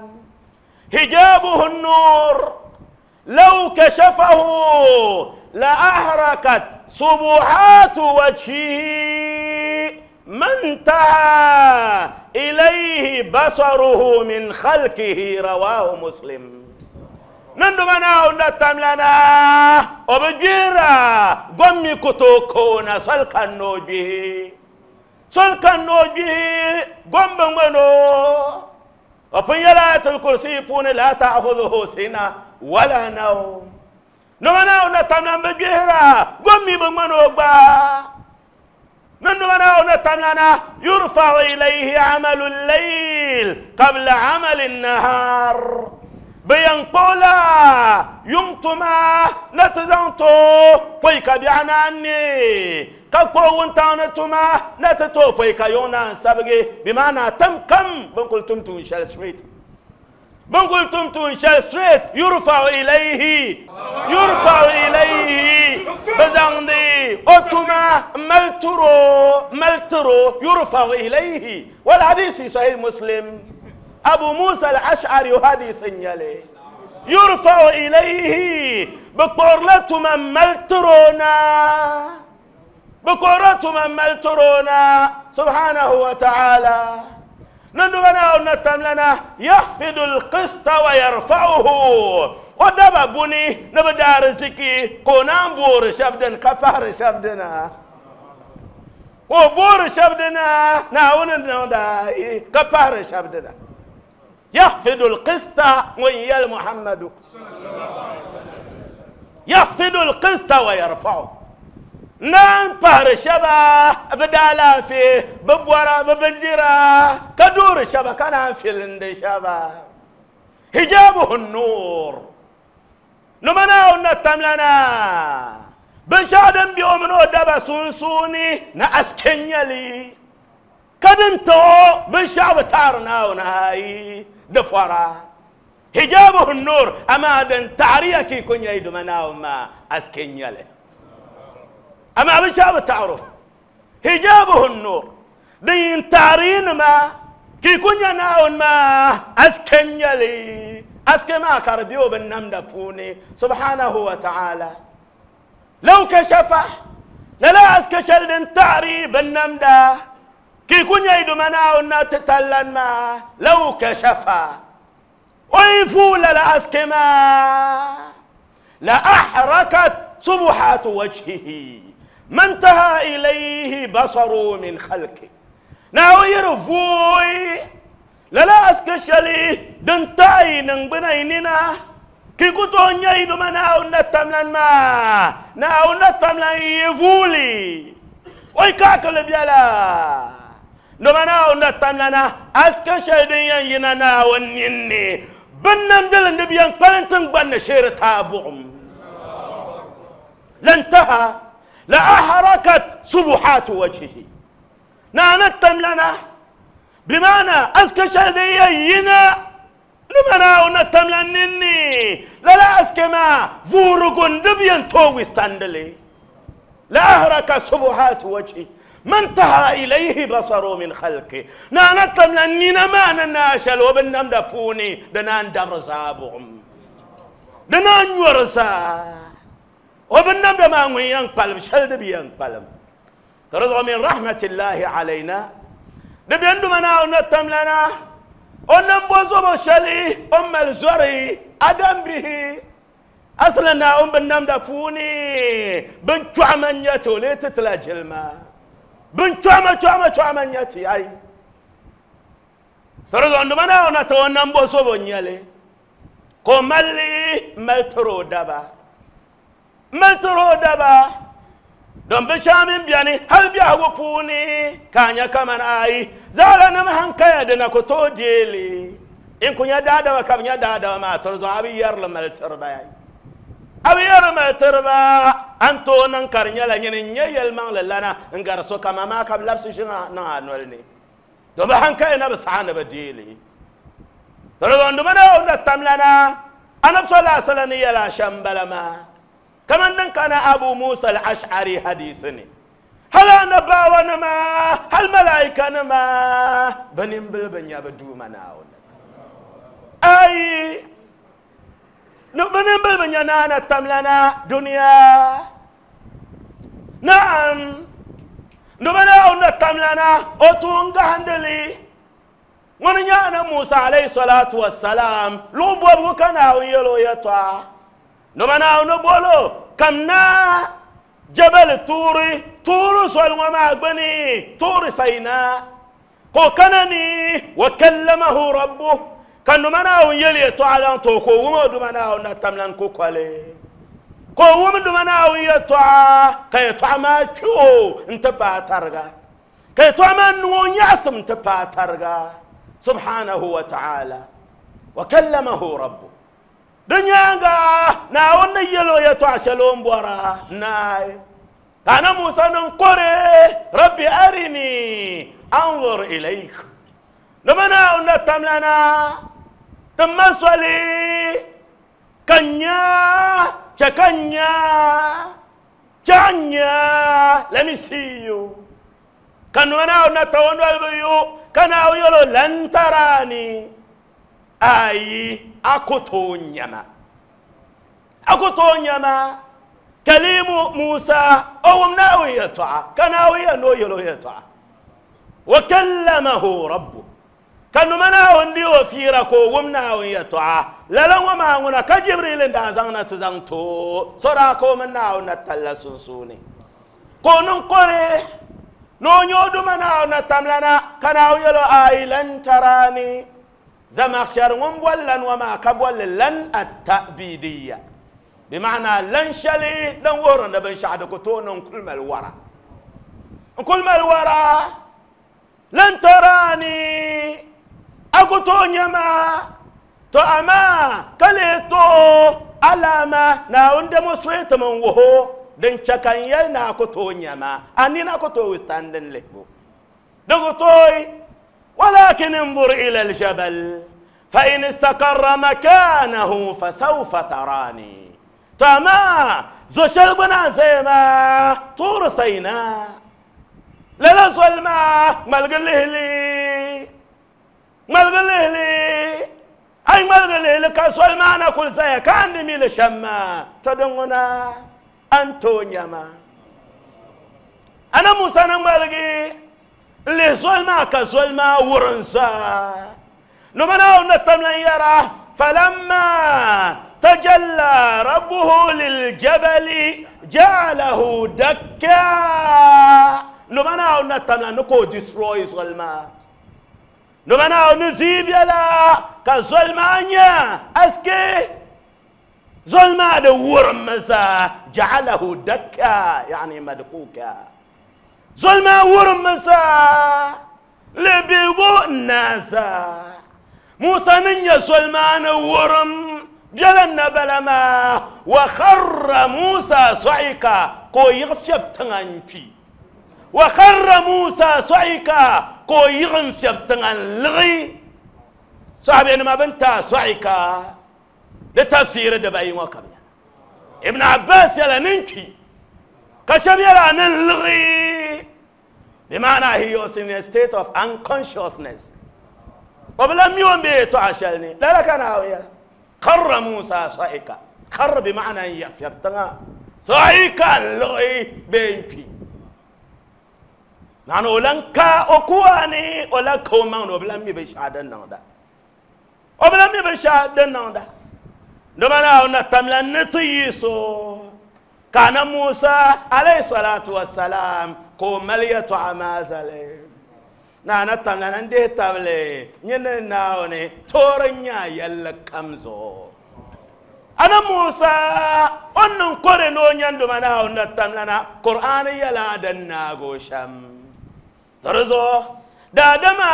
hijabuhu an-nur لو كشفه لأحرقت صبحات وجهه ما انتهى إليه بصره من خلقه رواه مسلم. نندمنا ونتملنا وبجيرا قمي كتوكونا سلكا نوجه سلكا نوجه قم بمنو وفي آية الكرسي فون لا تأخذه سنة ولا نوم. نمنا ونتملنا بجيرا قمي بمنو با نندمنا ونتملنا يرفع إليه عمل الليل قبل عمل النهار بينقولا يمتما نتزنتو فيك بعناني كقو وانتانتما نتتو فيك يونا سبقي بمعنى تم كم بنقول تمتو إن ستريت بنقول تمتو إن ستريت يرفع إليه يرفع إليه بزندي أتما ملترو ملترو يرفع إليه. والحديث صحيح مسلم أبو موسى الأشعري حديث يلي يرفع إليه بقرلة من ملترونا بقرلة من ملترونا سبحانه وتعالى. نندبنا ونتملنا يخفض القسط ويرفعه ودبا بني نبدا رزقي كونان بور شبدن كفار شبدنا وبور شبدنا ناون ندا كفار شبدنا يخفض القسط ويا محمد يخفض القسط ويرفعه نان بار شبا بدالا في ببورا ببندرا كدور شبا كان في الند شبا حجابه النور نمنا ونتملنا بشادم بيومنو دبا سونسوني ناسكنيلي كدنتو بشاب تارنا وناي دفورا حجابه النور اما دن تعريكي كن يدمنا وما اسكنيله اما بشاب تعرف حجابه النور دين تعرين ما كي كن يناون ما اسكنيلي اسكما كربيو بالنمدة فوني سبحانه وتعالى. لو كشفه لا اسكشل دين تعري بالنمدة كي كن يدمنا ونتتلن ما لو كشفه ويفول لأسكما لأحركت صبحات وجهه ما انتهى إليه بصره من خلقه ناوير فوي لا أسكشلي دنتاي ننبنيننا كي كنتو يدمنا ونتملن ما ناو نتملن يفولي ويكاكل بيالا نمنا ونتملنا أسكشل دين ينانا ونيني بنم دل النبي قلنتن بن شير تابعهم لانتهى لأحركت سبحات وجهه نانتم لنا بمعنى أسكشل دين ينا نمنا ونتملنني لا لا أسكما فورغون دبيان توي ستاندلي لأحرك سبحات وجهه ما انتهى إليه بصره من خلقه نانتم لأننا ما نناشل وبنم دفوني دنان درزابهم دنان ورزا وبنم دمان ينقلم شل دبي ينقلم ترضى من رحمة الله علينا دبي عندما ونتم لنا ونم بوزو شلي أم الزري أدم به أصلنا أم بنم دفوني بن شعمن يتو ليتتلاجل ما بن شعمة شعمة شعمة يتي أي ترى عندما أنا نتونا نبوسو بنيالي كمالي ملترو دبا ملترو دبا دم بشامين بياني هل بيعوفوني كان كمان أي زعلنا مهن كيدنا كتو ديلي إن كنا دادا وكم دادا ما ترى أبي يرل ملتربا أبي يرل ملتربا أنتو ننكر نيلا نيني يلمان لنا نكر سو كما ما كم لبس شنا نانولني دم بهن كينا بس عنا بديلي ترى عندما أنا نتملنا أنا بصلاة سلني لا شمبلما كمان كان أبو موسى الأشعري حديثني هل أنا باوانا ما هل ملائكة ما بنين بالبنيا بدو مناون أي Binin bil bi nya naana tamlana dunia. Naam. Numa naawuni tamlana o tuun gahandili. Ŋuni nyaana Musa alayhi salatu wassalam luɣ bɔbigu ka Naawuni yɛl o yɛtɔɣa. Numa Naawuni bolo kamna jabal tuuri tuuri zoli ŋɔ maa gbuni tuuri sayina ka o kana ni wa kallamahu rabbuh ka numa Naawuni yɛl yɛtɔɣa zaŋ ti o ka o wum o duma Naawuni na tamlan kukoli ka o wum duma Naawuni yɛtɔɣa ka yɛtɔɣa maa kpi o n-ti paai tariga ka yɛtɔɣa maa niŋ o nyaɣisim n-ti paai tariga. Subhanahu wa ta'ala wa kallamahu rabbuh dunyanga naawuni yɛl o yɛtɔɣa shɛli o ni bɔra naai ka ana Musa niŋ kɔre rabbi arini anzur ilayk nima Naawuni na tamlana ti ma soli ka n nya chɛ ka n nya chɛ n nya let me see you ka nima Naawuni na ta o noli bi yu ka Naawuni yɛl o lan tarani ayi a ku tooi nyama a ku tooi nyama kalimu Musa o wum Naawuni yɛtɔɣa ka Naawuni yɛn ni o yɛl o yɛtɔɣa wa kallamahu rabbu ka numa Naawuni di o fiira ka o wum Naawuni yɛtɔɣa lala ŋɔ maa ŋuna ka Jibril n daa zaŋ na ti zaŋ ti o sɔraa ka o mini Naawuni na talla sunsuuni ka o niŋ kɔre ni o nyɛ o duma Naawuni na tamlana ka Naawuni yɛl o ayi lan tarani Zamakhshari ŋun boli lan ŋɔ maa ka bolli lan at-ta'bidiyya bima'ana lan shɛli din wuhiri ni binshɛɣu di ku tooi niŋ kuli mali wara n kuli mali wara lan tarani a ku tooi nyɛ ma to amaa ka lee tooi alama Naawuni demonstrate mi n wuhi din chɛ ka n yɛli ni a ku tooi nyɛ ma a nina ku tooi withstanding lihibu di ku tooi ولكن انظر إلى الجبل فإن استقر مكانه فسوف تراني تما زو شلبنا زي ما طور سيناء لا ظلمة ملقله لي ملقله لي أي ملقله لي كظلمة أنا كل زي كان ميل شما تدمنا أنتونيا ما أنا موسى نملقي اللي ظلمة كظلمة ورنسا نمنا ونتمنى يرى فلما تجلى ربه للجبل جعله دكا نمنا ونتمنى نكو destroy ظلمة نمنا ونزيب يلا كظلمة أسكي ظلمة ورمسا جعله دكا يعني مدكوكا ظلمة ورمسا لبيغو الناس موسى نيا ظلمان ورم جلنا بلما وخر موسى صعيقا كو يغفشب تنغنشي وخر موسى صعيقا كو يغفشب تنغنلغي صاحبي أنا ما بنتا صعيقا لتفسير دبي وكبير ابن عباس يلا ننكي كشب يلا نلغي بمعنى he was in a state of unconsciousness. وبلم يوم بيته عشاني لا لا كان عاوية خر موسى صعيقا خر بمعنى يفتنا صعيقا لغي بينكي نحن ولنكا أكواني ولا كومان وبلم يبشهد النهضة وبلم يبشهد النهضة نمنا ونتمنى نتيسو كان موسى عليه الصلاة والسلام كو مليت عمازلي نانا تمنا نديه تابلي نينا ناوني تورنيا يلا كمزو أنا موسى أنن كورنو نيندو منا ونتمنا قرآن يلا دنا غوشم ترزو دادما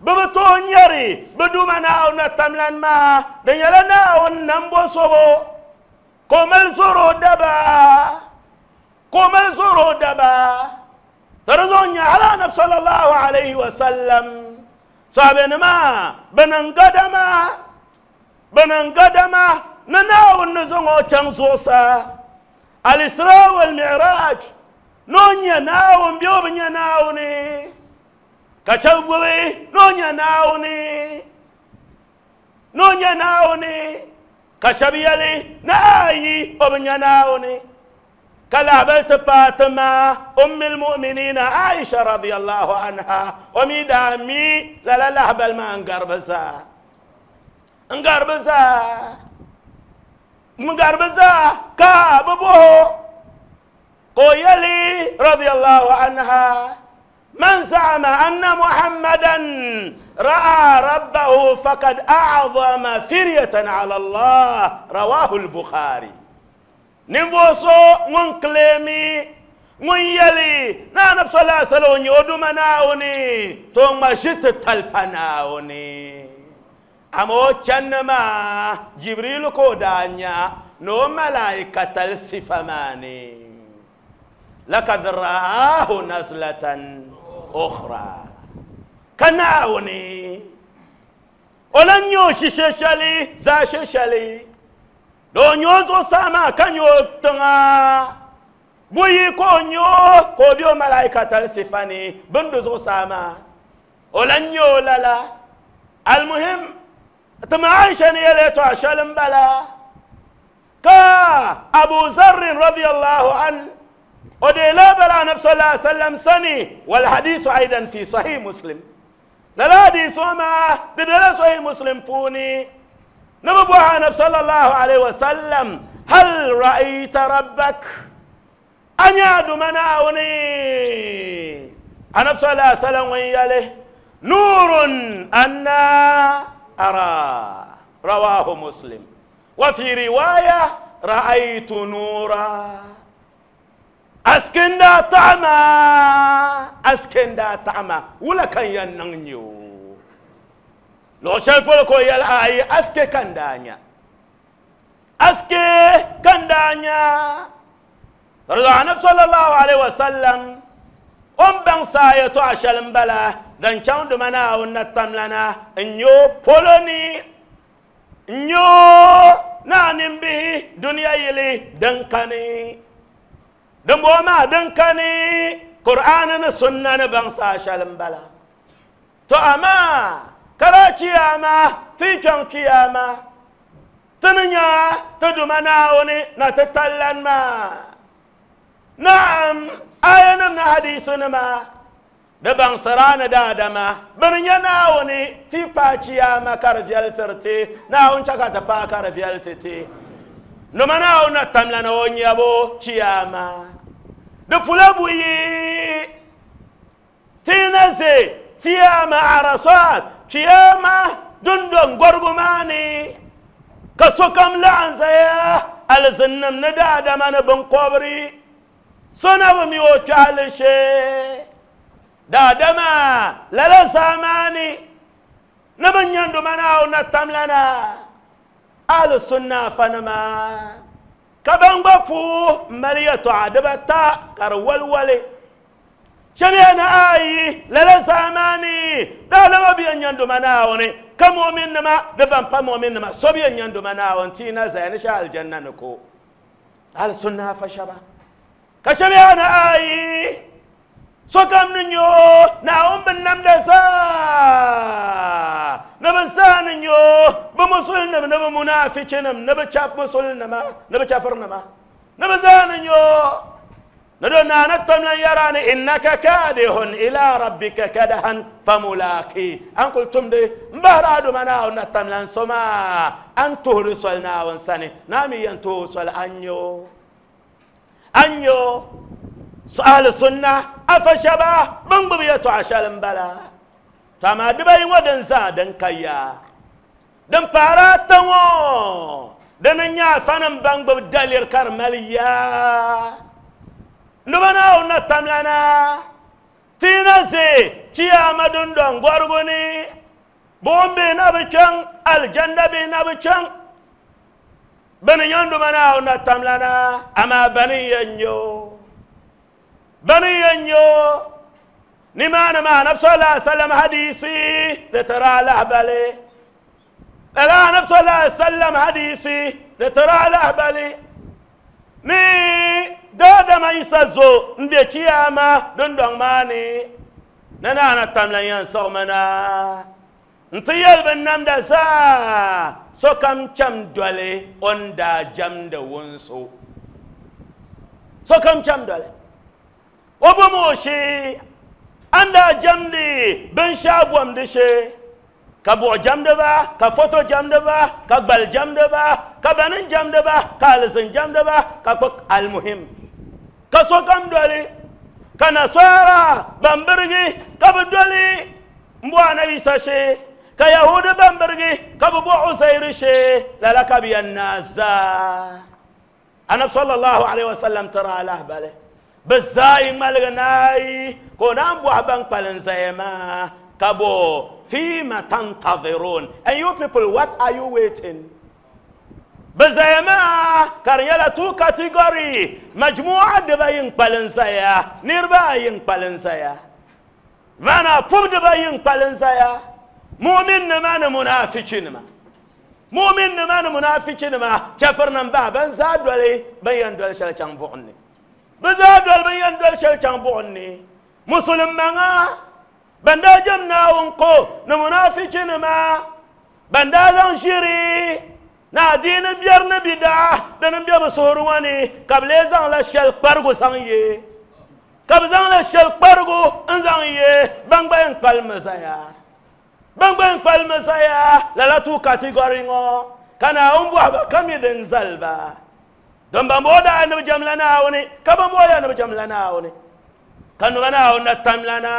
ببتو نيري بدو منا ونتمنا ما دنيلا ناون نمبو سوبو كومل زورو دبا كومل زورو دبا ترزوني على نفس صلى الله عليه وسلم صابن ما بننقدما بننقدما نناو النزغو تنزوسا الإسراء والمعراج نونيا ناون بيوبنيا ناوني كشبوي نونيا ناوني نونيا ناوني Ka shɛba yɛli ni ayi o bi nya Naawuni ka lahabali ti paai ti ma ummil mu'minina Aisha radiyallahu anha o mi daa mi lala lahabali maa n gari bi zaa n gari bi zaa n gari bi zaa ka bi bɔho ka o yɛli radiyallahu anha من زعم أن محمدا رأى ربه فقد أعظم فرية على الله رواه البخاري نبوسو من كلمي من يلي نانا صلى الله عليه وسلم يودمناوني ثم شت تلپناوني أمو چنما جبريل كودانيا نو ملائكة السفماني لقد رآه نزلة أخرى كناوني ولن يوشي ششلي زا ششلي دو نيوزو ساما كان يوتنا بوي كونيو كوبيو ملائكة السفاني بندزو ساما ولن يولالا المهم تما عائشة نيلتو عشان بلا كا أبو ذر رضي الله عنه ودي لا بلا نفس الله عليه وسلم سني والحديث أيضا في صحيح مسلم لا حديث ما بدل صحيح مسلم فوني نبوها نفس صلى الله عليه وسلم هل رأيت ربك أن يعد مناوني أنا صلى الله عليه وسلم وياله نور أنا أرى رواه مسلم وفي رواية رأيت نورا أسكن دا طعما أسكن دا طعما ولا كان يننيو لو شاف لكو يلا أسكي كان دانيا أسكي كان دانيا رضا النبي صلى الله عليه وسلم أم بن سايتو عشان بلا دان شاون دمنا ونتم لنا إنيو بولوني إنيو نانم به دنيا يلي دنكني دمبو ما دنكني قرآن سنة بن ساشلم بلا تو أما كراتي أما تيجان كياما تنيا تدمنا وني نتتلن ما نعم آية من حديثنا ما دبان سرانا دادما بنيا ناوني تي باتشياما كارفيال ترتي ناون شكاتا با كارفيال تتي نما ناون تملنا ونيابو تشياما دفلا بوي تينزي تياما عرصات تياما دندن غرغماني كسوكم لعنزيا الزنم ندادما نبن قبري سنة بميو تعالشي دادما لا ساماني نبن يندو منا ونتملنا أهل السنة فنما كبن بفو مليتو عدبتا كرول ولي شبينا آي لا ساماني دادما بيان يندو منا وني كمؤمن نما دبن بمؤمن نما سبيان يندو منا ونتينا زين شاء الجنة نكو أهل السنة فشبا كشبيانا آي سوكم نيو ناوم بنم دسا نبسان نيو بمسلم نب منافقين نب شاف مسلم نب شافرنا ما نبزان نيو ندونا نتم لن يراني إنك كادح إلى ربك كدحا فملاقي أن قلتم دي مبهرادو منا نتم لن سما أن تهرسلنا ونساني نامي ينتهرسل أنيو أنيو سؤال السنة أفشبا بنبيتو عشان بلا تما دبي ودن زادن كيا دن باراتو دن نيا فنم بنبب دليل كرماليا نبنا ونتملنا تينزي تياما دندن غورغوني بومبي نبچن الجنة بي نبچن بني يندو منا ونتملنا أما بني ينيو بني ينيو نمان ما نفس الله عليه وسلم حديثي لترى لهبلي لا نفس الله عليه وسلم حديثي لترى لهبلي ني دادا ما يسزو نبيتياما دندون ماني نانا نتملنا ينصر منا N-ti yɛli bin namda zaa sokam cham doli o ni daa jamdi wunso. Sokam cham doli. O bom o shee a ni daa jamdi binshaɣu bomdi shee ka buɣu jamdi ba ka foto jamdi ba ka gbali jamdi ba ka banin jamdi ba ka alizin jamdi ba ka kpa almuhim ka sokam doli ka nasara ban birigi ka bi doli n bo anabi Isa shee ka yahudi ban birigi ka bi bo Uzairu shee lala ka bi yɛn naa zaa anabi sallallahu alaihi wasallam tiri alahbali bi zaa yi ŋmaligi naayi ka o naan bɔhi ban kpalim zaya maa ka bo fima tantazirun, and you people, what are you waiting? Bi zaya maa ka di nyɛla two category majmu'a dibayi n kpalim zaya niriba ayi n kpalim zaya maana pub dibayi n kpalim zaya mu'min nima ni munafiki nima mu'min nima ni munafiki nima chafir nim ba ban zaa doli ban yɛn doli shɛli chaŋ buɣum ni bi zaa doli ban yɛn doli shɛli chaŋ buɣum ni musulin maŋa ban daa jam Naawuni ko ni munafiki nima ban daa zaŋ ʒiri na adiini biɛri ni bidaa dini n bɛ bi suhuri ŋɔ ni ka bi lee zaŋla shɛli kparigu zaŋ ye ka bi zaŋla shɛli kparigu n zaŋ ye ban gba yɛn kpalimi zaya ban gba yɛn kpalimi zaya lala two category ŋɔ ka Naawuni bɔhi ba ka mi din zali ba don ban bɔɔ daa ni bi jamla Naawuni ka ban bɔɔ ya ni bi jamla Naawuni ka numa Naawuni na tamla na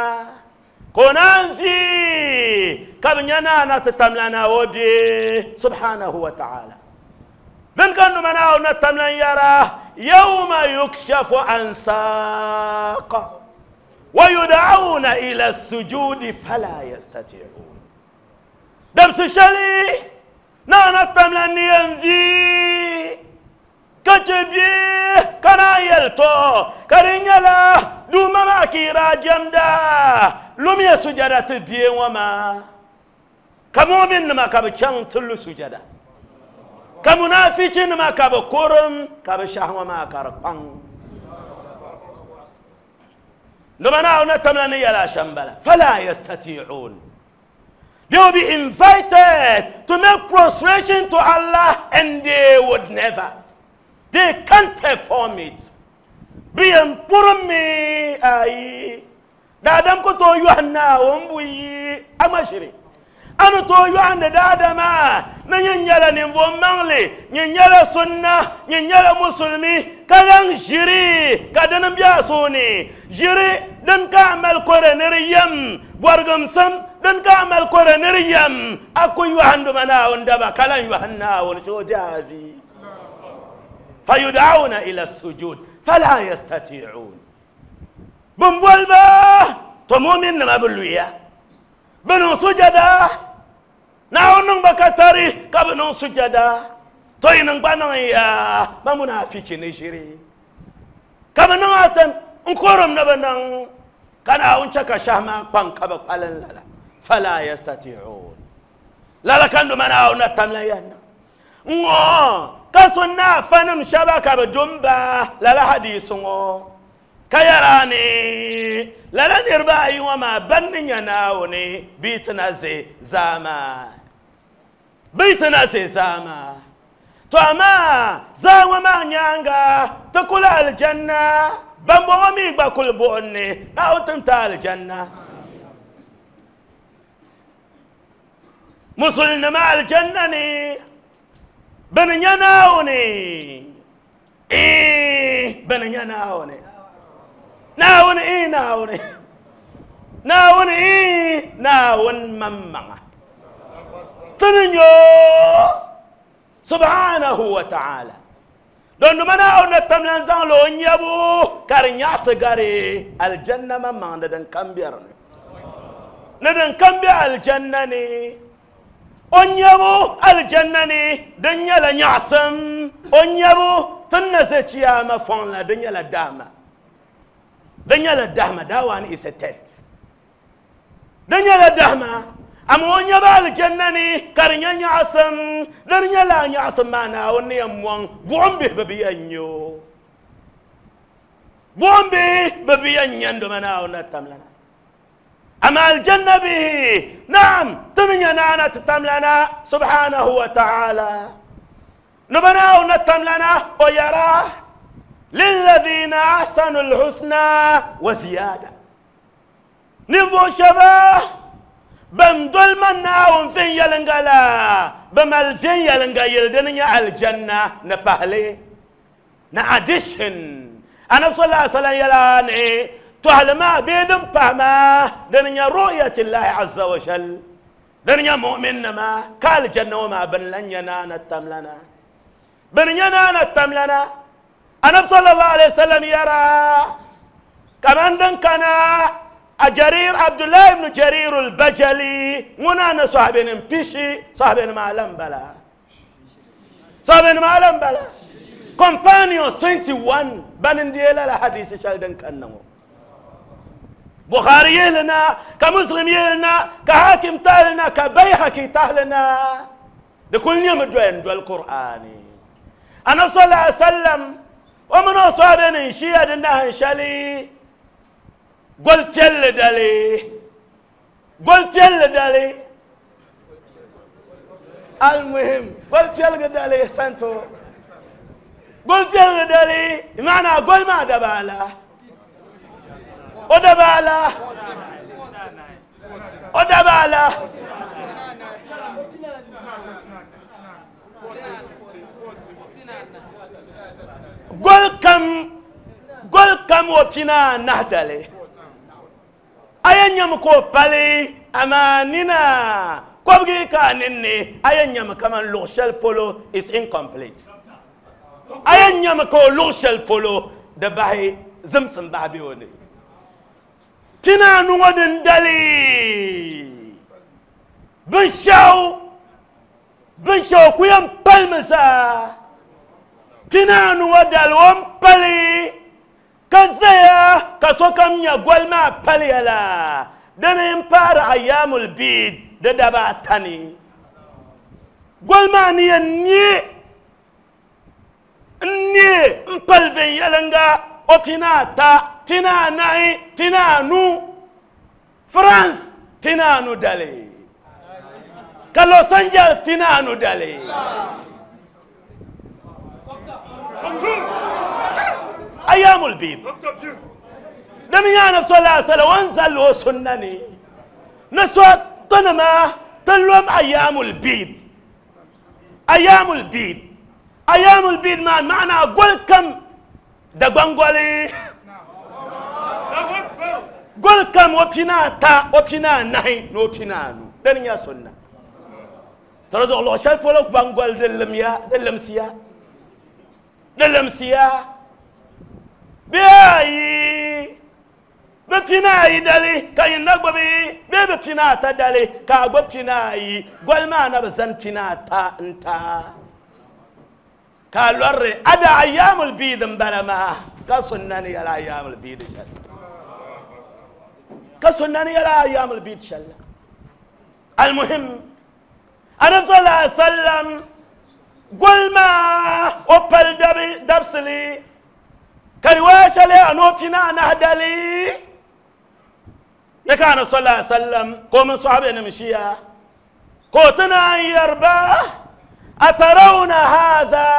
ka o naan zi ka bi nya naa na ti tamla na o bɛ subhanahu wa ta'ala din ka numa Naawuni na tamla n yɛra yawma yukshafu an saq wa yud'auna ila sujudi fala yastati'un dabsi shɛli naa na tamla ni yɛn vi ka chɛ bɛ ka naan yɛli tɔ ka di nyɛla duuma maa ka yi daa jɛmda lumiya sujada ti bie ŋɔ maa ka mu'min nima ka bi chaŋ ti lu sujada ka munafiki nima ka bi kurim ka bi shɛhi ŋɔ maa ka di kpaŋ nima Naawuni na tamla ni yɛla shɛm bala fala yastati'un. They will be invited to make prostration to Allah and they would never. They can't perform it. Bi yɛn purimi ayi daadam ku tooi yɔhi Naawuni buyi a ma shiri a ni tooi yɔhindi daadama ni nyin nyɛla ninvuɣu maŋli nyin nyɛla sunna nyin nyɛla musulmi ka zaŋ ʒiri ka dini n bɛ a suuni ʒiri din ka a mali kore ni di yɛm bɔrigimsim din ka a mali kore ni di yɛm a ku yɔhindima Naawuni daba ka lan yɔhi Naawuni shee o di a vi fayud'auna ila sujud fala yastati'un bin boliba to mu'min nima bi luya bi niŋ sujada Naawuni niŋ ba ka tari ka bi niŋ sujada to yi niŋ gba niŋ ya ba munafiki ni ʒiri ka bi niŋ atam n kurim ni bi niŋ ka Naawuni chɛ ka shɛhi maa kpaŋ ka bi kpalim lala fala yastati'un lala ka numa Naawuni na tamla yɛn niŋ ŋɔ ka so na afanim shɛba ka bi dumba lala hadisi ŋɔ ka yɛra ni lala niriba ayi ŋɔ maa ban ni nya Naawuni bɛ ti na ʒe zaa maa bɛ ti na ʒe zaa maa to amaa zaa ŋɔ maa nyaanga ti kuli aljanna ban bɔŋɔ mi gba kuli buɣum ni Naawuni tim ti aljanna musulnima aljanna ni bini nya Naawuni ee bini nya Naawuni Naawuni ee Naawuni Naawuni ee Naawuni maŋmaŋa tini nyo subhanahu wa ta'ala don numa Naawuni na tamla n zaŋ li o nyabu ka di nyaɣasi gari aljanna maŋmaŋ ni din kam bɛ di ni ni din kam bɛ aljanna ni o nyabu aljanna ni din nyɛla nyaɣasim o nyabu tin na ʒe chiyaama fɔŋ la din nyɛla dahama din nyɛla dahama that one is a test din nyɛla dahama amma o nyabu aljanna ni ka di nyɛ nyaɣasim din nyɛla nyaɣasim maa Naawuni ni yɛn mɔŋ buɣum bihi bi bi yɛn nyɛ o buɣum bihi bi bi yɛn nyɛ n doma Naawuni na tamla na amma aljanna bihi naam تنيا تتملنا سبحانه وتعالى نبناه نتملنا ويراه للذين أحسنوا الحسنى وزيادة نبو شباه بمدل مناهم فين يلنغلا بمال فين يلنغا يلدن الجنة نبهلي نأديشن أنا صلى الله عليه وسلم يلاني تعلم بيدم فهما دنيا رؤية الله عز وجل دنيا مؤمن ما قال جنة وما بن لن ينانا التملنا بن ينانا التملنا أنا صلى الله عليه وسلم يرى كمان دن كان جرير عبد الله بن جرير البجلي منانا صاحبين بيشي صاحبين ما لم بلا صاحبين ما لم بلا companions twenty-one بننديلا الحديث شالدن كانوا بخاري لنا كمسلم لنا كحاكم تالنا كبيهقي تالنا ده كل يوم دوين دول القرآن أنا صلى الله عليه وسلم ومن أصحابنا شيئا دنا شالي قلت يلا دالي قلت يلا دالي المهم قلت يلا دالي سانتو قلت يلا دالي معنى قل ما دبالا ودبالا ودبالا قل كم قل كم وبنا نهدلي ayan yam ko pali amanina kobgi ka ninni ayan yam kaman lughshal polo is incomplete ayan yam ko lughshal polo da bahi zimsim bahi woni tina nuwadin dali bin shaw bin shaw ku yam palmisa tina nuwadal won pali كزيا كسوكم يقول ما باليلا دنا يمبار أيام البيد دبا تاني قول ما ني ني ني مبال في يلنغا أوتينا تا تينا ناي تينا نو فرانس تينا نو دالي كالوس أنجلس تينا نو دالي أيام البيض دنيا نفس الله صلى وانزل وسنني نسوت طنما تلوم أيام البيض أيام البيض أيام البيض ما معنى قول كم دقنقولي قول كم وبنا تا وبنا نهي نوبنا نو دنيا سنة ترى الله شاف ولو بنقول دلم يا دلم سيا دلم سيا بياي بفيناي دالي كاين نغبي بي بفينا تا دالي كا بفيناي غول ما انا بزن فينا تا انت كالور ادا ايام البيض بلما كسنني يا ايام البيض شل كسنني يا ايام البيض شل المهم انا صلى الله عليه وسلم قول ما اوبل دبسلي كرواش لي أنوبنا نهدلي يكان صلى الله عليه وسلم قوم صحابي نمشيا قوتنا يربا أترون هذا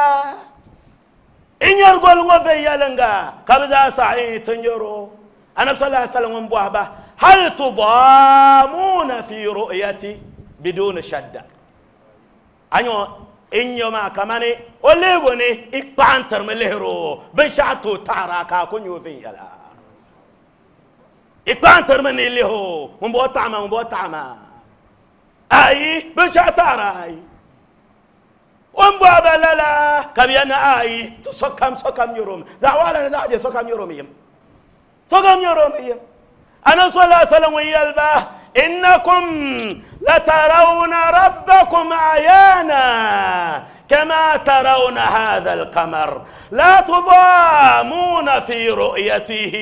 إن يرقل وفي يلنغا كبزا سعيد تنجرو أنا صلى الله عليه وسلم بوهبة هل تضامون في رؤيتي بدون شدة أنيو إن يوم كماني وليبوني إقبان ترملهرو بنشاتو تارا كون يوفي يلا إقبان ترمني اللي هو من بو طعمه من بو طعمه أي بنشاتارا أي ومبو بلالا كبيانا أي تسكم سكم يروم زعوالا زعجي سكم يروم يم سكم يروم يم أنا صلى الله عليه وسلم ويلبه إنكم لترون ربكم عيانا كما ترون هذا القمر لا تضامون في رؤيته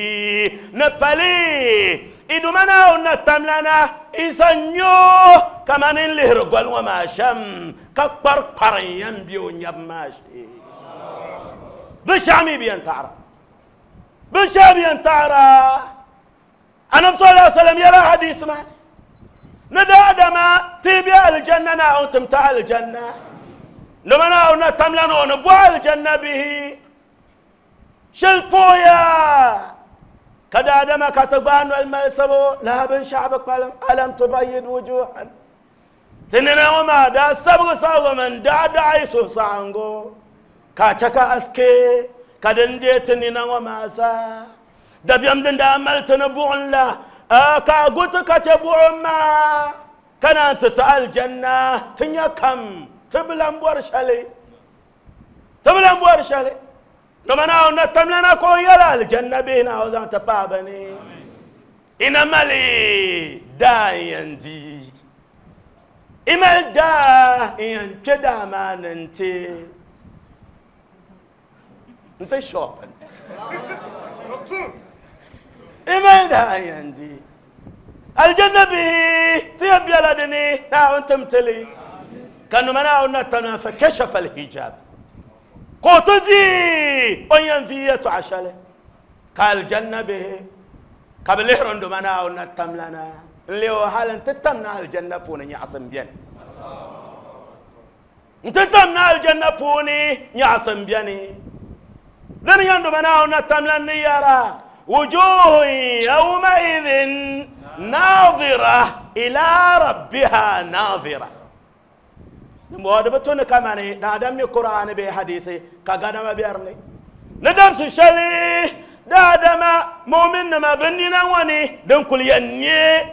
نبلي إدمنا ونتملنا إسنيو كما نلهر وما شم كبر قريم بيون يبماشي بشامي بيان تعرى بشامي بيان تعرى أنا صلى الله عليه وسلم يرى حديث ما Ni daadama ti be aljanna Naawuni tim ti aljanna. Nima Naawuni na tamla o ni bo aljanna bihi. Shɛli pooya ka daadama ka ti gbaai noli malisibu lala binshaɣu bi kpalim alam tubayyid wujuhan. Ti nina ŋɔ maa daa sabigi sabigimi n daɣi daɣi suhusaɣingu ka chɛ ka aske ka din deei ti nina ŋɔ maa zaa. Dabiɛm din daa mali ti ni buɣum la ka gu ti ka chɛ buɣum maa ka naan ti ti aljanna ti nya kam ti bi lan bɔri shɛli ti bi lan bɔri shɛli. Nima Naawuni na tamlana ka o yɛli aljanna bihi Naawuni zaŋ ti paai ba ni. Ina mali daa n yɛn di. I mali daa n yɛn kpɛ daa maa ni n-ti n-ti shopping. I mali daa n yɛn di. Aljanna bihi ti yɛn bela di ni Naawuni tim ti li. Ka nima Naawuni na tamlana fa kashafa al-hijab. Ka o ti vii o ni yɛn vii yɛltɔɣa shɛli ka aljanna bihi ka bi lihiri n doma Naawuni na tamlana n leei o hali n ti tam na aljanna puuni nyaɣasim biɛni. N ti tam na aljanna puuni nyaɣasim biɛni. Dini yɛn doma Naawuni na tamlan ni yɛra wujuhun yawmaidhin naadira ila rabbiha naadira. Di bi tu ni kamani daadam mi Qur'ani bee hadisi ka gadama biɛri ni. Ni dabsi shɛli daadama mu'min nima bi nina ŋɔ ni din kuli yɛn nyɛ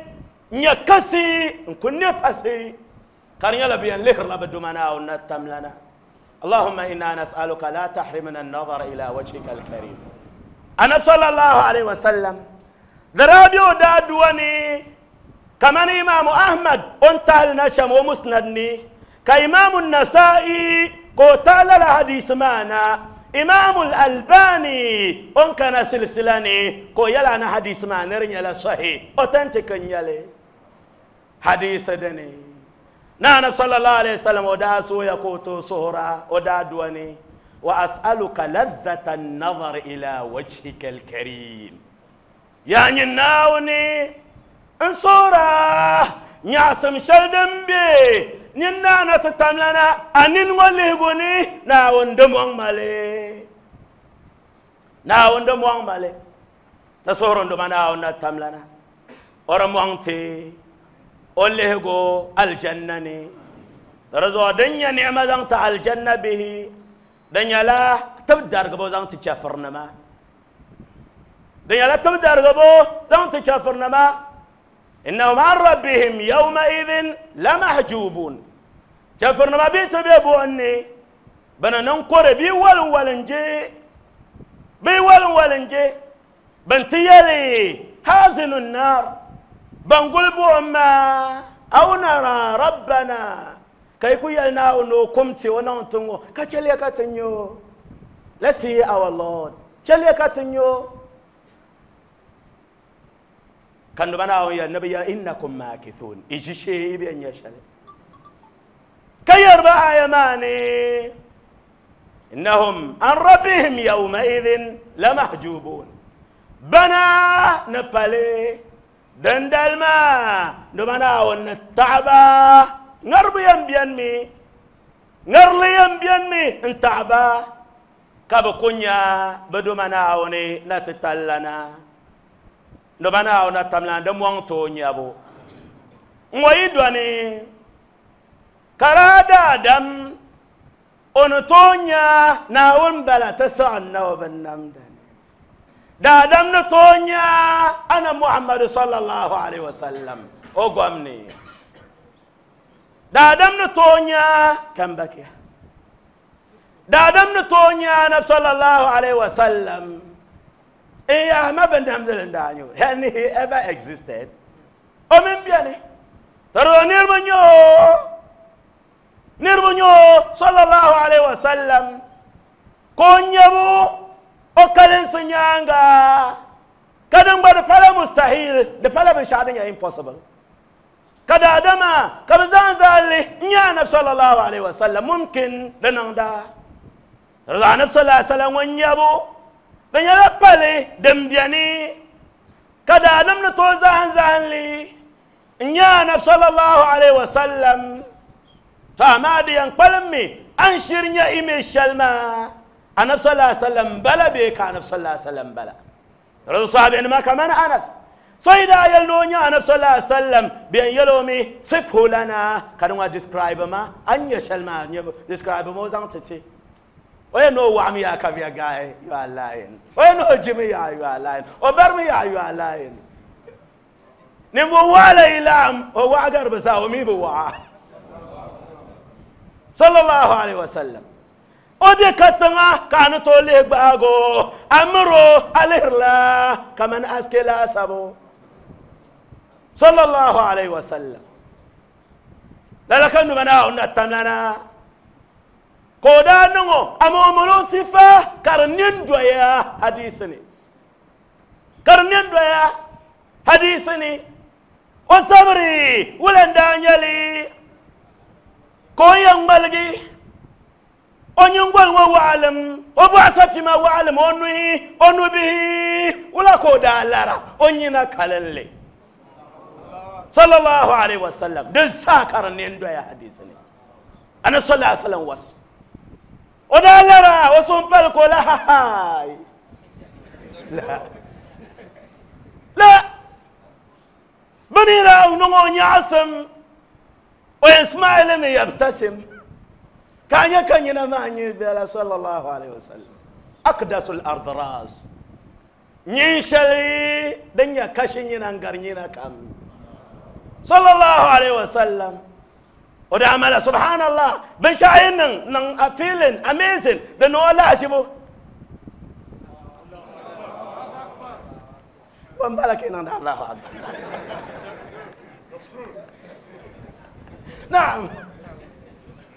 nyɛ kasi n kuli ne pasi ka di nyɛla bi yɛn lihirila bi duma Naawuni na tamlana. Allahumma inna nas'aluka la tahrimna an-nazara ila wajhika al-karim. Annabi sallallahu alaihi wasallam daa bɛ o daa ni kamani Imaamu Ahmad o ni tahali na shɛm o musnad ni ka Imaamu Nasa'i ka o taɣila la hadisi maa na. Imaamu Albani o ni kana silsila ni ka o yɛla ni hadisi maa ni di nyɛla sahih authentic n nyɛli hadisi dini. Na Annabi sallallahu alaihi wasallam o daa sooya ka o tooi suhura o daa dua ni wa as'aluka ladhata an-nazar ila wajhika al-karim. Yaa nyin Naawuni n suhura nyaɣasim shɛli din be nyin naana ti tamlana a nini ŋɔ lihigu ni Naawuni di mɔŋ mali. Naawuni di mɔŋ mali. Ti suhuri n duma Naawuni na tamlana o di mɔŋ ti o lihigu aljanna ni. Di zuɣu din nyɛ ni'ima zaŋ ti aljanna bihi di nyɛla tib darigibu zaŋ ti chɛfurinima. Di nyɛla tib darigibu zaŋ ti chɛfurinima. Innahum an rabbihim yawmaidhin lamahjubun. Chɛfurinima bi ti be buɣum ni bɛ ni niŋ kore bee walin walin je bee walin walin je ban ti yɛli hazinu nnar ban guli buɣum maa aw nara rabbana ka yi ku yɛli Naawuni o kum ti o niŋ ti ŋɔ ka chɛliya ka ti nyɛ o. Let's see our Lord. Chɛliya ka ti nyɛ o. Ka noba Naawuni yɛli ni bi yɛli innakum maakithun i ʒi shee i bɛ nyɛ shɛli. Ka yɛri ba aya maa ni innahum an rabbihim yawmaidhin lamahjubun. Bana ni pali dindali maa noba Naawuni ni taɣaba ŋaribu yɛn biɛni mi ŋarili yɛn biɛni mi n taɣaba ka bi ku nya bi duma Naawuni na ti tallana. Noba Naawuni na tamlana di mɔŋ ti o nyabu. N ŋɔ yi dɔni ka daa daadam o ni tooi nya Naawuni bala ti siɣi n na o bin namda ni. Daadam ni tooi nya ana Muhammadu sallallahu alaihi wasallam o gom ni. Daadam ni tooi nya kan bakiya. Daadam ni tooi nya Annabi sallallahu alaihi wasallam. Eh, ma bin namdili n daa nyɛ o. Had he ever existed? O min biɛni. Tari o niriba nyɛ o. Niriba nyɛ o sallallahu alaihi wasallam. Ka o nyɛbu o kalinsi nyaanga. Ka din gba di pala mustahil, di pala binshaɣu din nyɛ impossible. Ka daadama ka bi zaŋ zali n nyɛ Annabi sallallahu alaihi wasallam mumkin di niŋda. Di zuɣu Annabi sallallahu alaihi wasallam ŋun nyɛbu di nyɛla pali din biɛni ka daadam ni tooi zahim zahim li. N nya anab sallallahu alaihi wasallam. To amaa di yɛn kpalim mi an shiri nya image shɛli maa anab sallallahu alaihi wasallam bala bee ka anab sallallahu alaihi wasallam bala. Rasul sahabi nima kaman Anas so yi daa yɛli ni o nya anab sallallahu alaihi wasallam bɛ yɛn yɛli o mi sifhu lana ka di ŋɔ describe ma an nya shɛli maa describe ma o zaŋ ti ti o yɛn ni o waɣami yaa ka bɛ guy, you are lying. O yɛn ni o jimi yaa, you are lying. O barimi yaa, you are lying. Ninvuɣu waɣala yi laɣam o waɣa gari bi zaa o mi bi waɣa sallallahu alaihi wasallam. O bɛ katiŋa ka a ni tooi lihi gbaago a miro a lihirila kaman aske laasabu sallallahu alaihi wasallam. Lala ka numa Naawuni na tamlana ka o daa niŋ o ama o mali o sifa ka di nin doya hadisi ni ka di nin doya hadisi ni o sabiri wula n daa nyɛli ka o yɛn ŋmaligi o nyingoli ŋɔ waɣalim o bɔɣu sapima waɣalim o nuhi o nubihi wula ka o daa lara o nyina kalinli sallallahu alaihi wasallam. Din saa ka di nin doya hadisi ni anabi sallallahu alaihi wasallam wasu o daa lara o sun pali ka o la hahaai la la bini daa niŋ o nyaɣasim o yɛn smile mi yabtasim ka a nyɛ ka nyina maa nyɛ bɛla sallallahu alaihi wasallam. Akdasul ardras nyin shɛli din nyɛ kashi nyina n gari nyina kam sallallahu alaihi wasallam. O daa mala subhanallah binshaɣu yi niŋ niŋ appealing amazing di niŋ o lahaʒibu ban bala ka yi niŋdi Allahu akbar. Naam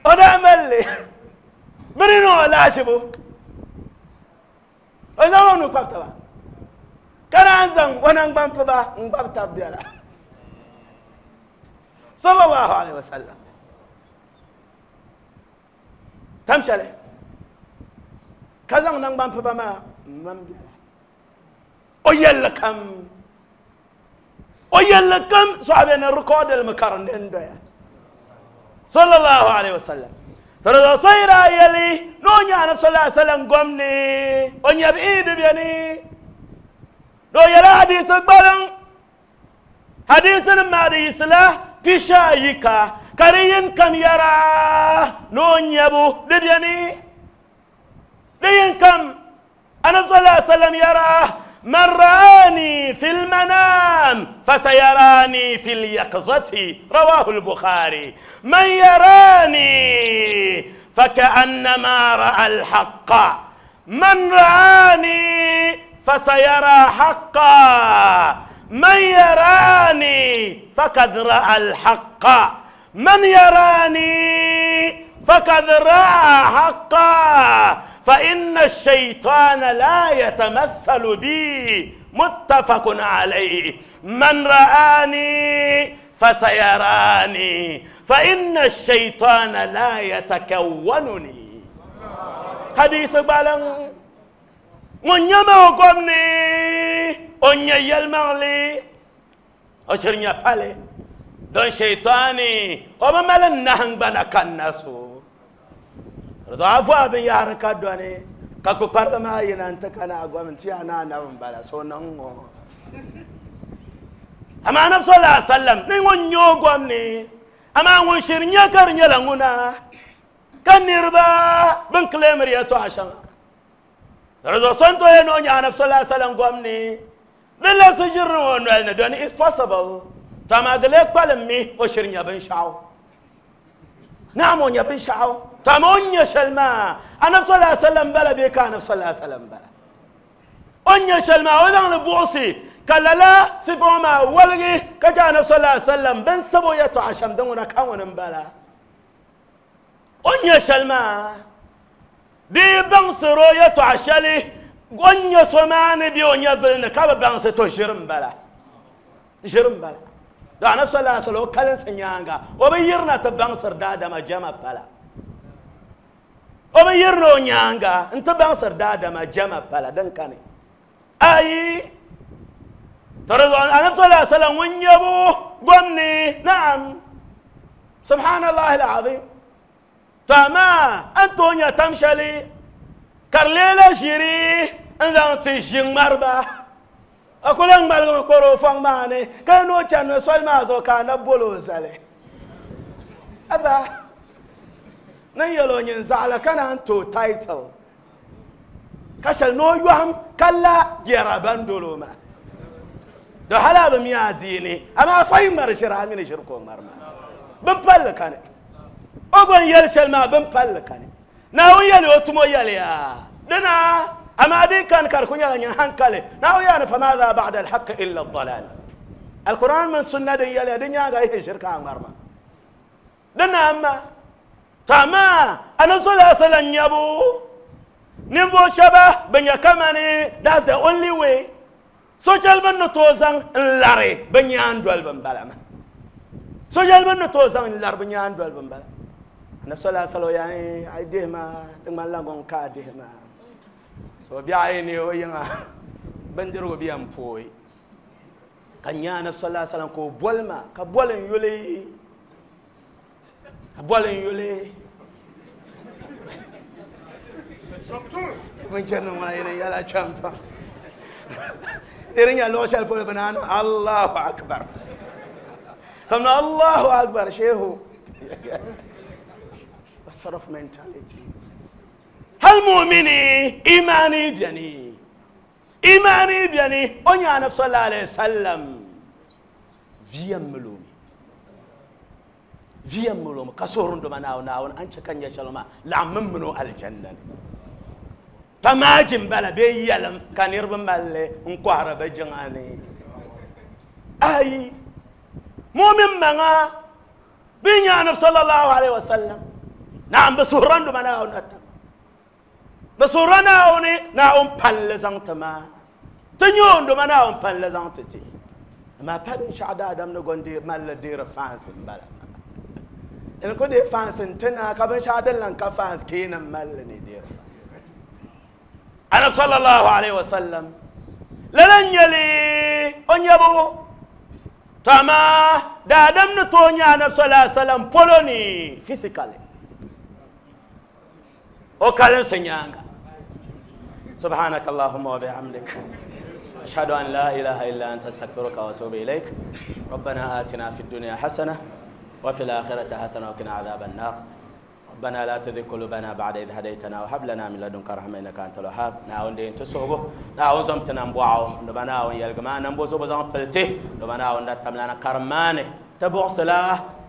o daa mali li bini niŋ o lahaʒibu o zaŋ o nuu kpabi taba ka naan zaŋ o nangbani piba n gbabi tabi biɛla sallallahu alaihi wasallam. Tam shɛli ka zaŋ nangbani piba maa n mam biɛla o yɛlli kam o yɛlli kam sɔhabi ni rikɔdili mi ka di nin doya sallallahu alaihi wasallam. To di zuɣu so yi daa yɛli ni o nya anabi sallallahu alaihi wasallam gom ni o nyɛbi iidi bɛni di o yɛla hadisi gbaliŋ hadisi nim maa di yisila pisha ayi ka ka di yin kam yɛra ni o nyɛbu di bɛni di yin kam anabi sallallahu alaihi wasallam yɛra man ra'ani fil manam fasayarani fil yaqzati rawahu al-Bukhari. Man yarani faka'annama ra'a al-haqqa man ra'ani fasayara haqqa man yarani fakad ra'a al-haqqa man yarani fakad ra'a haqqa فإن الشيطان لا يتمثل بي متفق عليه. من رآني فسيراني فإن الشيطان لا يتكونني. حديث بالان ŋun nyɛma o gom ni o nyɛ yɛlimaŋli o shiri nyɛ pali don shaitani o bi mali nahingbana kanna so zuɣu a vohi binyahari ka dɔni ka kpukpariba maa yina n ti kana a gom n ti yaa ni anabi n bala so niŋ ŋɔ amaa anabi sallallahu alaihi wasallam ni ŋun nyɛ o gom ni amaa ŋun shiri nyɛ ka di nyɛla ŋuna ka niriba bin claimiri yɛltɔɣa shɛŋa di zuɣu so n to yɛn ni o nyɛ anabi sallallahu alaihi wasallam gom ni di labisi ʒiri o noli ni dɔni is possible to amaa di lee kpalim mi o shiri nyɛ binshaɣu naam o nyɛ binshaɣu to amaa o nyɛ shɛli maa anabi sallallahu alaihi wasallam bala bee ka anabi sallallahu alaihi wasallam bala o nyɛ shɛli maa o zaŋli buɣusi ka lala sifa ŋɔ maa waligi ka chɛ anabi sallallahu alaihi wasallam bin sabi o yɛltɔɣa shɛm din ŋuna ka ŋuni n bala o nyɛ shɛli maa di baŋsiri o yɛltɔɣa shɛli o nyɛ so maa ni bɛ o nyɛvili ni ka bi baŋsi to ʒiri n bala ʒiri n bala do anabi sallallahu alaihi wasallam o kalinsi nyaanga o bi yirina ti baŋsiri daadama jama pala o bi yirina o nyaanga n ti baŋsiri daadama jama pala din kani ayi ترى أنا صلى الله عليه وسلم ونيبو قمني نعم سبحان الله العظيم تما أنتونيا تمشلي كارليلا جيري أنت تجين مربا أقول لك مالك كورو فان ماني كانوا كانوا سول ما زو كان بولو زالي أبا نيلو ينزعل كان أنتو تايتل كشل نو يوهم كلا يرابان دولوما دو حلا بميا ديني أما فاين مرشرا من شركو مرما بمبل كان أقول يلشل ما بمبل كان ناوي يلي أتمو يلي دنا أما دي كان كاركون يلا هنكله ناوي أنا فماذا بعد الحق إلا الضلال القرآن من سنة دي يلي دنيا غايه شركة مرما دنا أما تما أنا صلى الله عليه وسلم يبو نبو شبه بنيا كماني that's the only way social ban نتوزن لاري بنيا اندول بنبلما social ban نتوزن لار بنيا اندول بنبلما أنا صلى الله عليه وسلم يعني أيديه ما تما لانغون كاديه ما so biya ne o yinga bandiro biya mpoi kanya annabi sallallahu alaihi wasallam ko bolma ka bolen yole ka bolen yole mun jannu ma yana yala champa irin ya lo shal pole banana Allahu akbar kamna Allahu akbar shehu a sort of mentality هل مؤمني إيماني بيني إيماني بيني أني أنا صلى الله عليه وسلم فيم ملومي فيم ملومي كسورن دمنا وناون أنت كان يشلما لا ممنو الجنة فما جنبلا بيلم كان يربم مالي انقهر بجناني أي مؤمن منا بيني أنا صلى الله عليه وسلم نعم بسورن دمنا وناون بسورنا أوني نعم بالزان تما تنيون دوما نعم بالزان تتي ما بابن شعدا آدم نقول دي مال دير فانس بلا إن كده فانس تنا كابن شعدا لان كفانس كينا مال ندير أنا صلى الله عليه وسلم لن يلي أنيبو تما دادم نتونيا أنا صلى الله عليه وسلم بولوني physically وكالن سنيانغا سبحانك اللهم وبحمدك أشهد أن لا إله إلا أنت أستغفرك وأتوب إليك ربنا آتنا في الدنيا حسنة وفي الآخرة حسنة وقنا عذاب النار ربنا لا تزغ قلوبنا بعد إذ هديتنا وهب لنا من لدنك رحمة إنك أنت الوهاب ناون دين تسوبو ناون زمتنا نبوعو نبنا يلقما نبو زوبو زمبلتي نبنا ندتملنا كرمانه تبوغسلا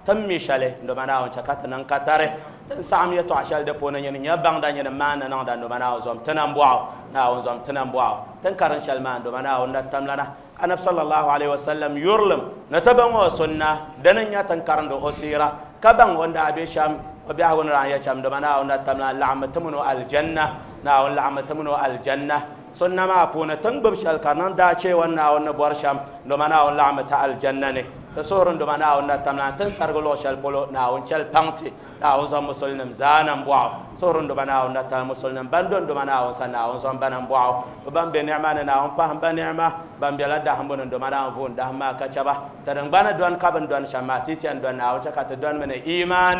تمي شالي نبنا ونشكات ننكتره تنسام يتو عشال دبونا ين يبان دان ين ما نان دان نبنا وزم تنبوعو ناون زم تنبوعو تنكرن شال ما نبنا ندتملنا أنا صلى الله عليه وسلم يرلم نتبعو سنة دنيا تنكرن دو أسيرة كبان وندا أبي شام وبيعون رعاية شام دمنا ونتمنى لعمة تمنو الجنة ناون لعمة تمنو الجنة سنة ما أبونا تنبب شال كارنان داشي ونا ونبور شام دمنا ولعمة الجنة نه تصورن دمنا ونتمنى تنسر قلو شال بولو ناون شال بانتي ناون زم مسلم زانم بواو صورن دمنا ونتمنى مسلم بندون دمنا ونسنا ونزم بنم بواو وبام بنعمة ناون فهم بنعمة بام بيلا دهم بنون دمنا ونفون دهم ما كشبه ترن بنا دوان كابن دوان شماتي تيان دوان ناون شكات دوان من إيمان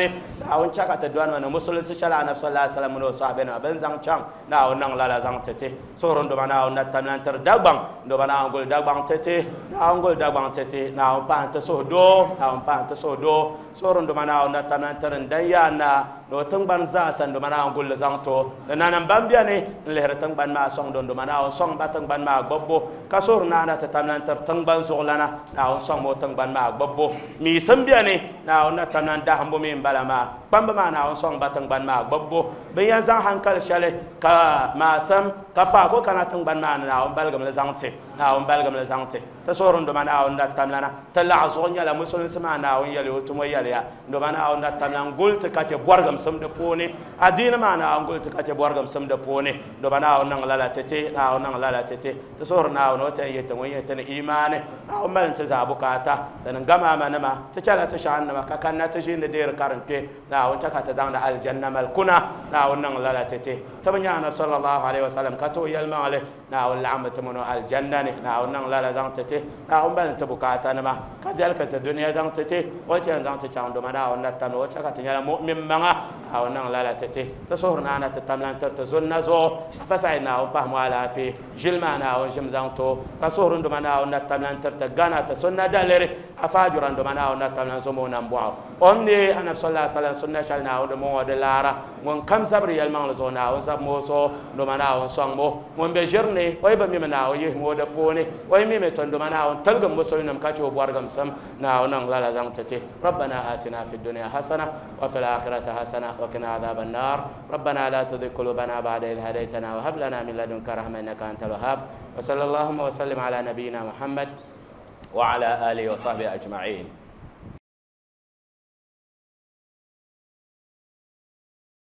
ناون شكات دوان من مسلم سشلا نفس الله عليه وسلم وصحبنا بنزان شام ناون نان لا زان تتي صورن دمنا ونتمنى تر دبان دمنا ونقول دبان تتي ناون قول دبان تتي ناون بانت سودو ناون بانت سودو صورن دمنا ونتمنى ترن ديانا لو تنبان زاسن دمنا ونقول زانتو لأن بامبياني اللي هرتنبان ما سون دون دمنا ونسون باتنبان ما بابو كسور نانا تتمنى تر تنبان زغلنا ناون سون مو تنبان ما بابو ميسم بياني ناون نتمنى دهم بومين بلا ما بامبا ما ناون سون باتنبان ما بابو بيان زان هنكال شالي كا ما سم كفاكو كان تنبان ما ناون بلغم لزانتي ناون بلغم لزانتي تصورن دمنا ون نتمنى تلعزون يلا مسلم سما ناون يلي وتمو يلي دمنا ون نتمنى قلت كاتي بورغم سم دپوني أدين ما ناون قلت كاتي بورغم سم دپوني دمنا ون نغلا تتي ناون نغلا تتي تصور ناون وتن يتن ويتن إيمانه ناون مال تزابكاتا تنغما منما تشالا تشان ما كان تشين دير كارنكي ناون تكات دان الجنة ملكنا ناون نغلا تتي تبنيا صلى الله عليه وسلم كتو يلمالي Naawuni laɣimmi ti mini o aljanna ni Naawuni niŋ lala zaŋ ti ti Naawuni bali n-ti bukaatanima ka viɛli ka ti dunia zaŋ ti ti o chɛ n-zaŋ ti chaŋ doma Naawuni na tamli o chɛ ka ti nyɛla mu'min maŋa Naawuni niŋ lala ti ti ti suhuri naana ti tamla n-tiri ti zunna zuɣu afa Said Naawuni pahimi o alaafee ʒili maa Naawuni ʒim zaŋ ti o ka suhuri n doma Naawuni na tamla n-tiri ti Gana ti sunna daliri afa Ajura n doma Naawuni na tamla n-zom o nambɔɣu o ni neei Anabi sallallahu alaihi wasallam sunna shɛli Naawuni di mɔŋɔ di laara ŋun kam zabiri yɛlimaŋli zuɣu Naawuni zabimi o zuɣu doma Naawuni sɔŋmi o ŋun be ʒiri ni o yi bi mimi Naawuni yihimi o di puuni o yi mimi to doma Naawuni tiligim musulinim ka che o bɔrigimsim Naawuni niŋ lala zaŋ ti ti ربنا آتنا في الدنيا حسنة وفي الآخرة حسنة وقنا عذاب النار ربنا لا تزغ قلوبنا بعد إذ هديتنا وهب لنا من لدنك رحمة إنك أنت الوهاب وصلى اللهم وسلم على نبينا محمد وعلى آله وصحبه أجمعين.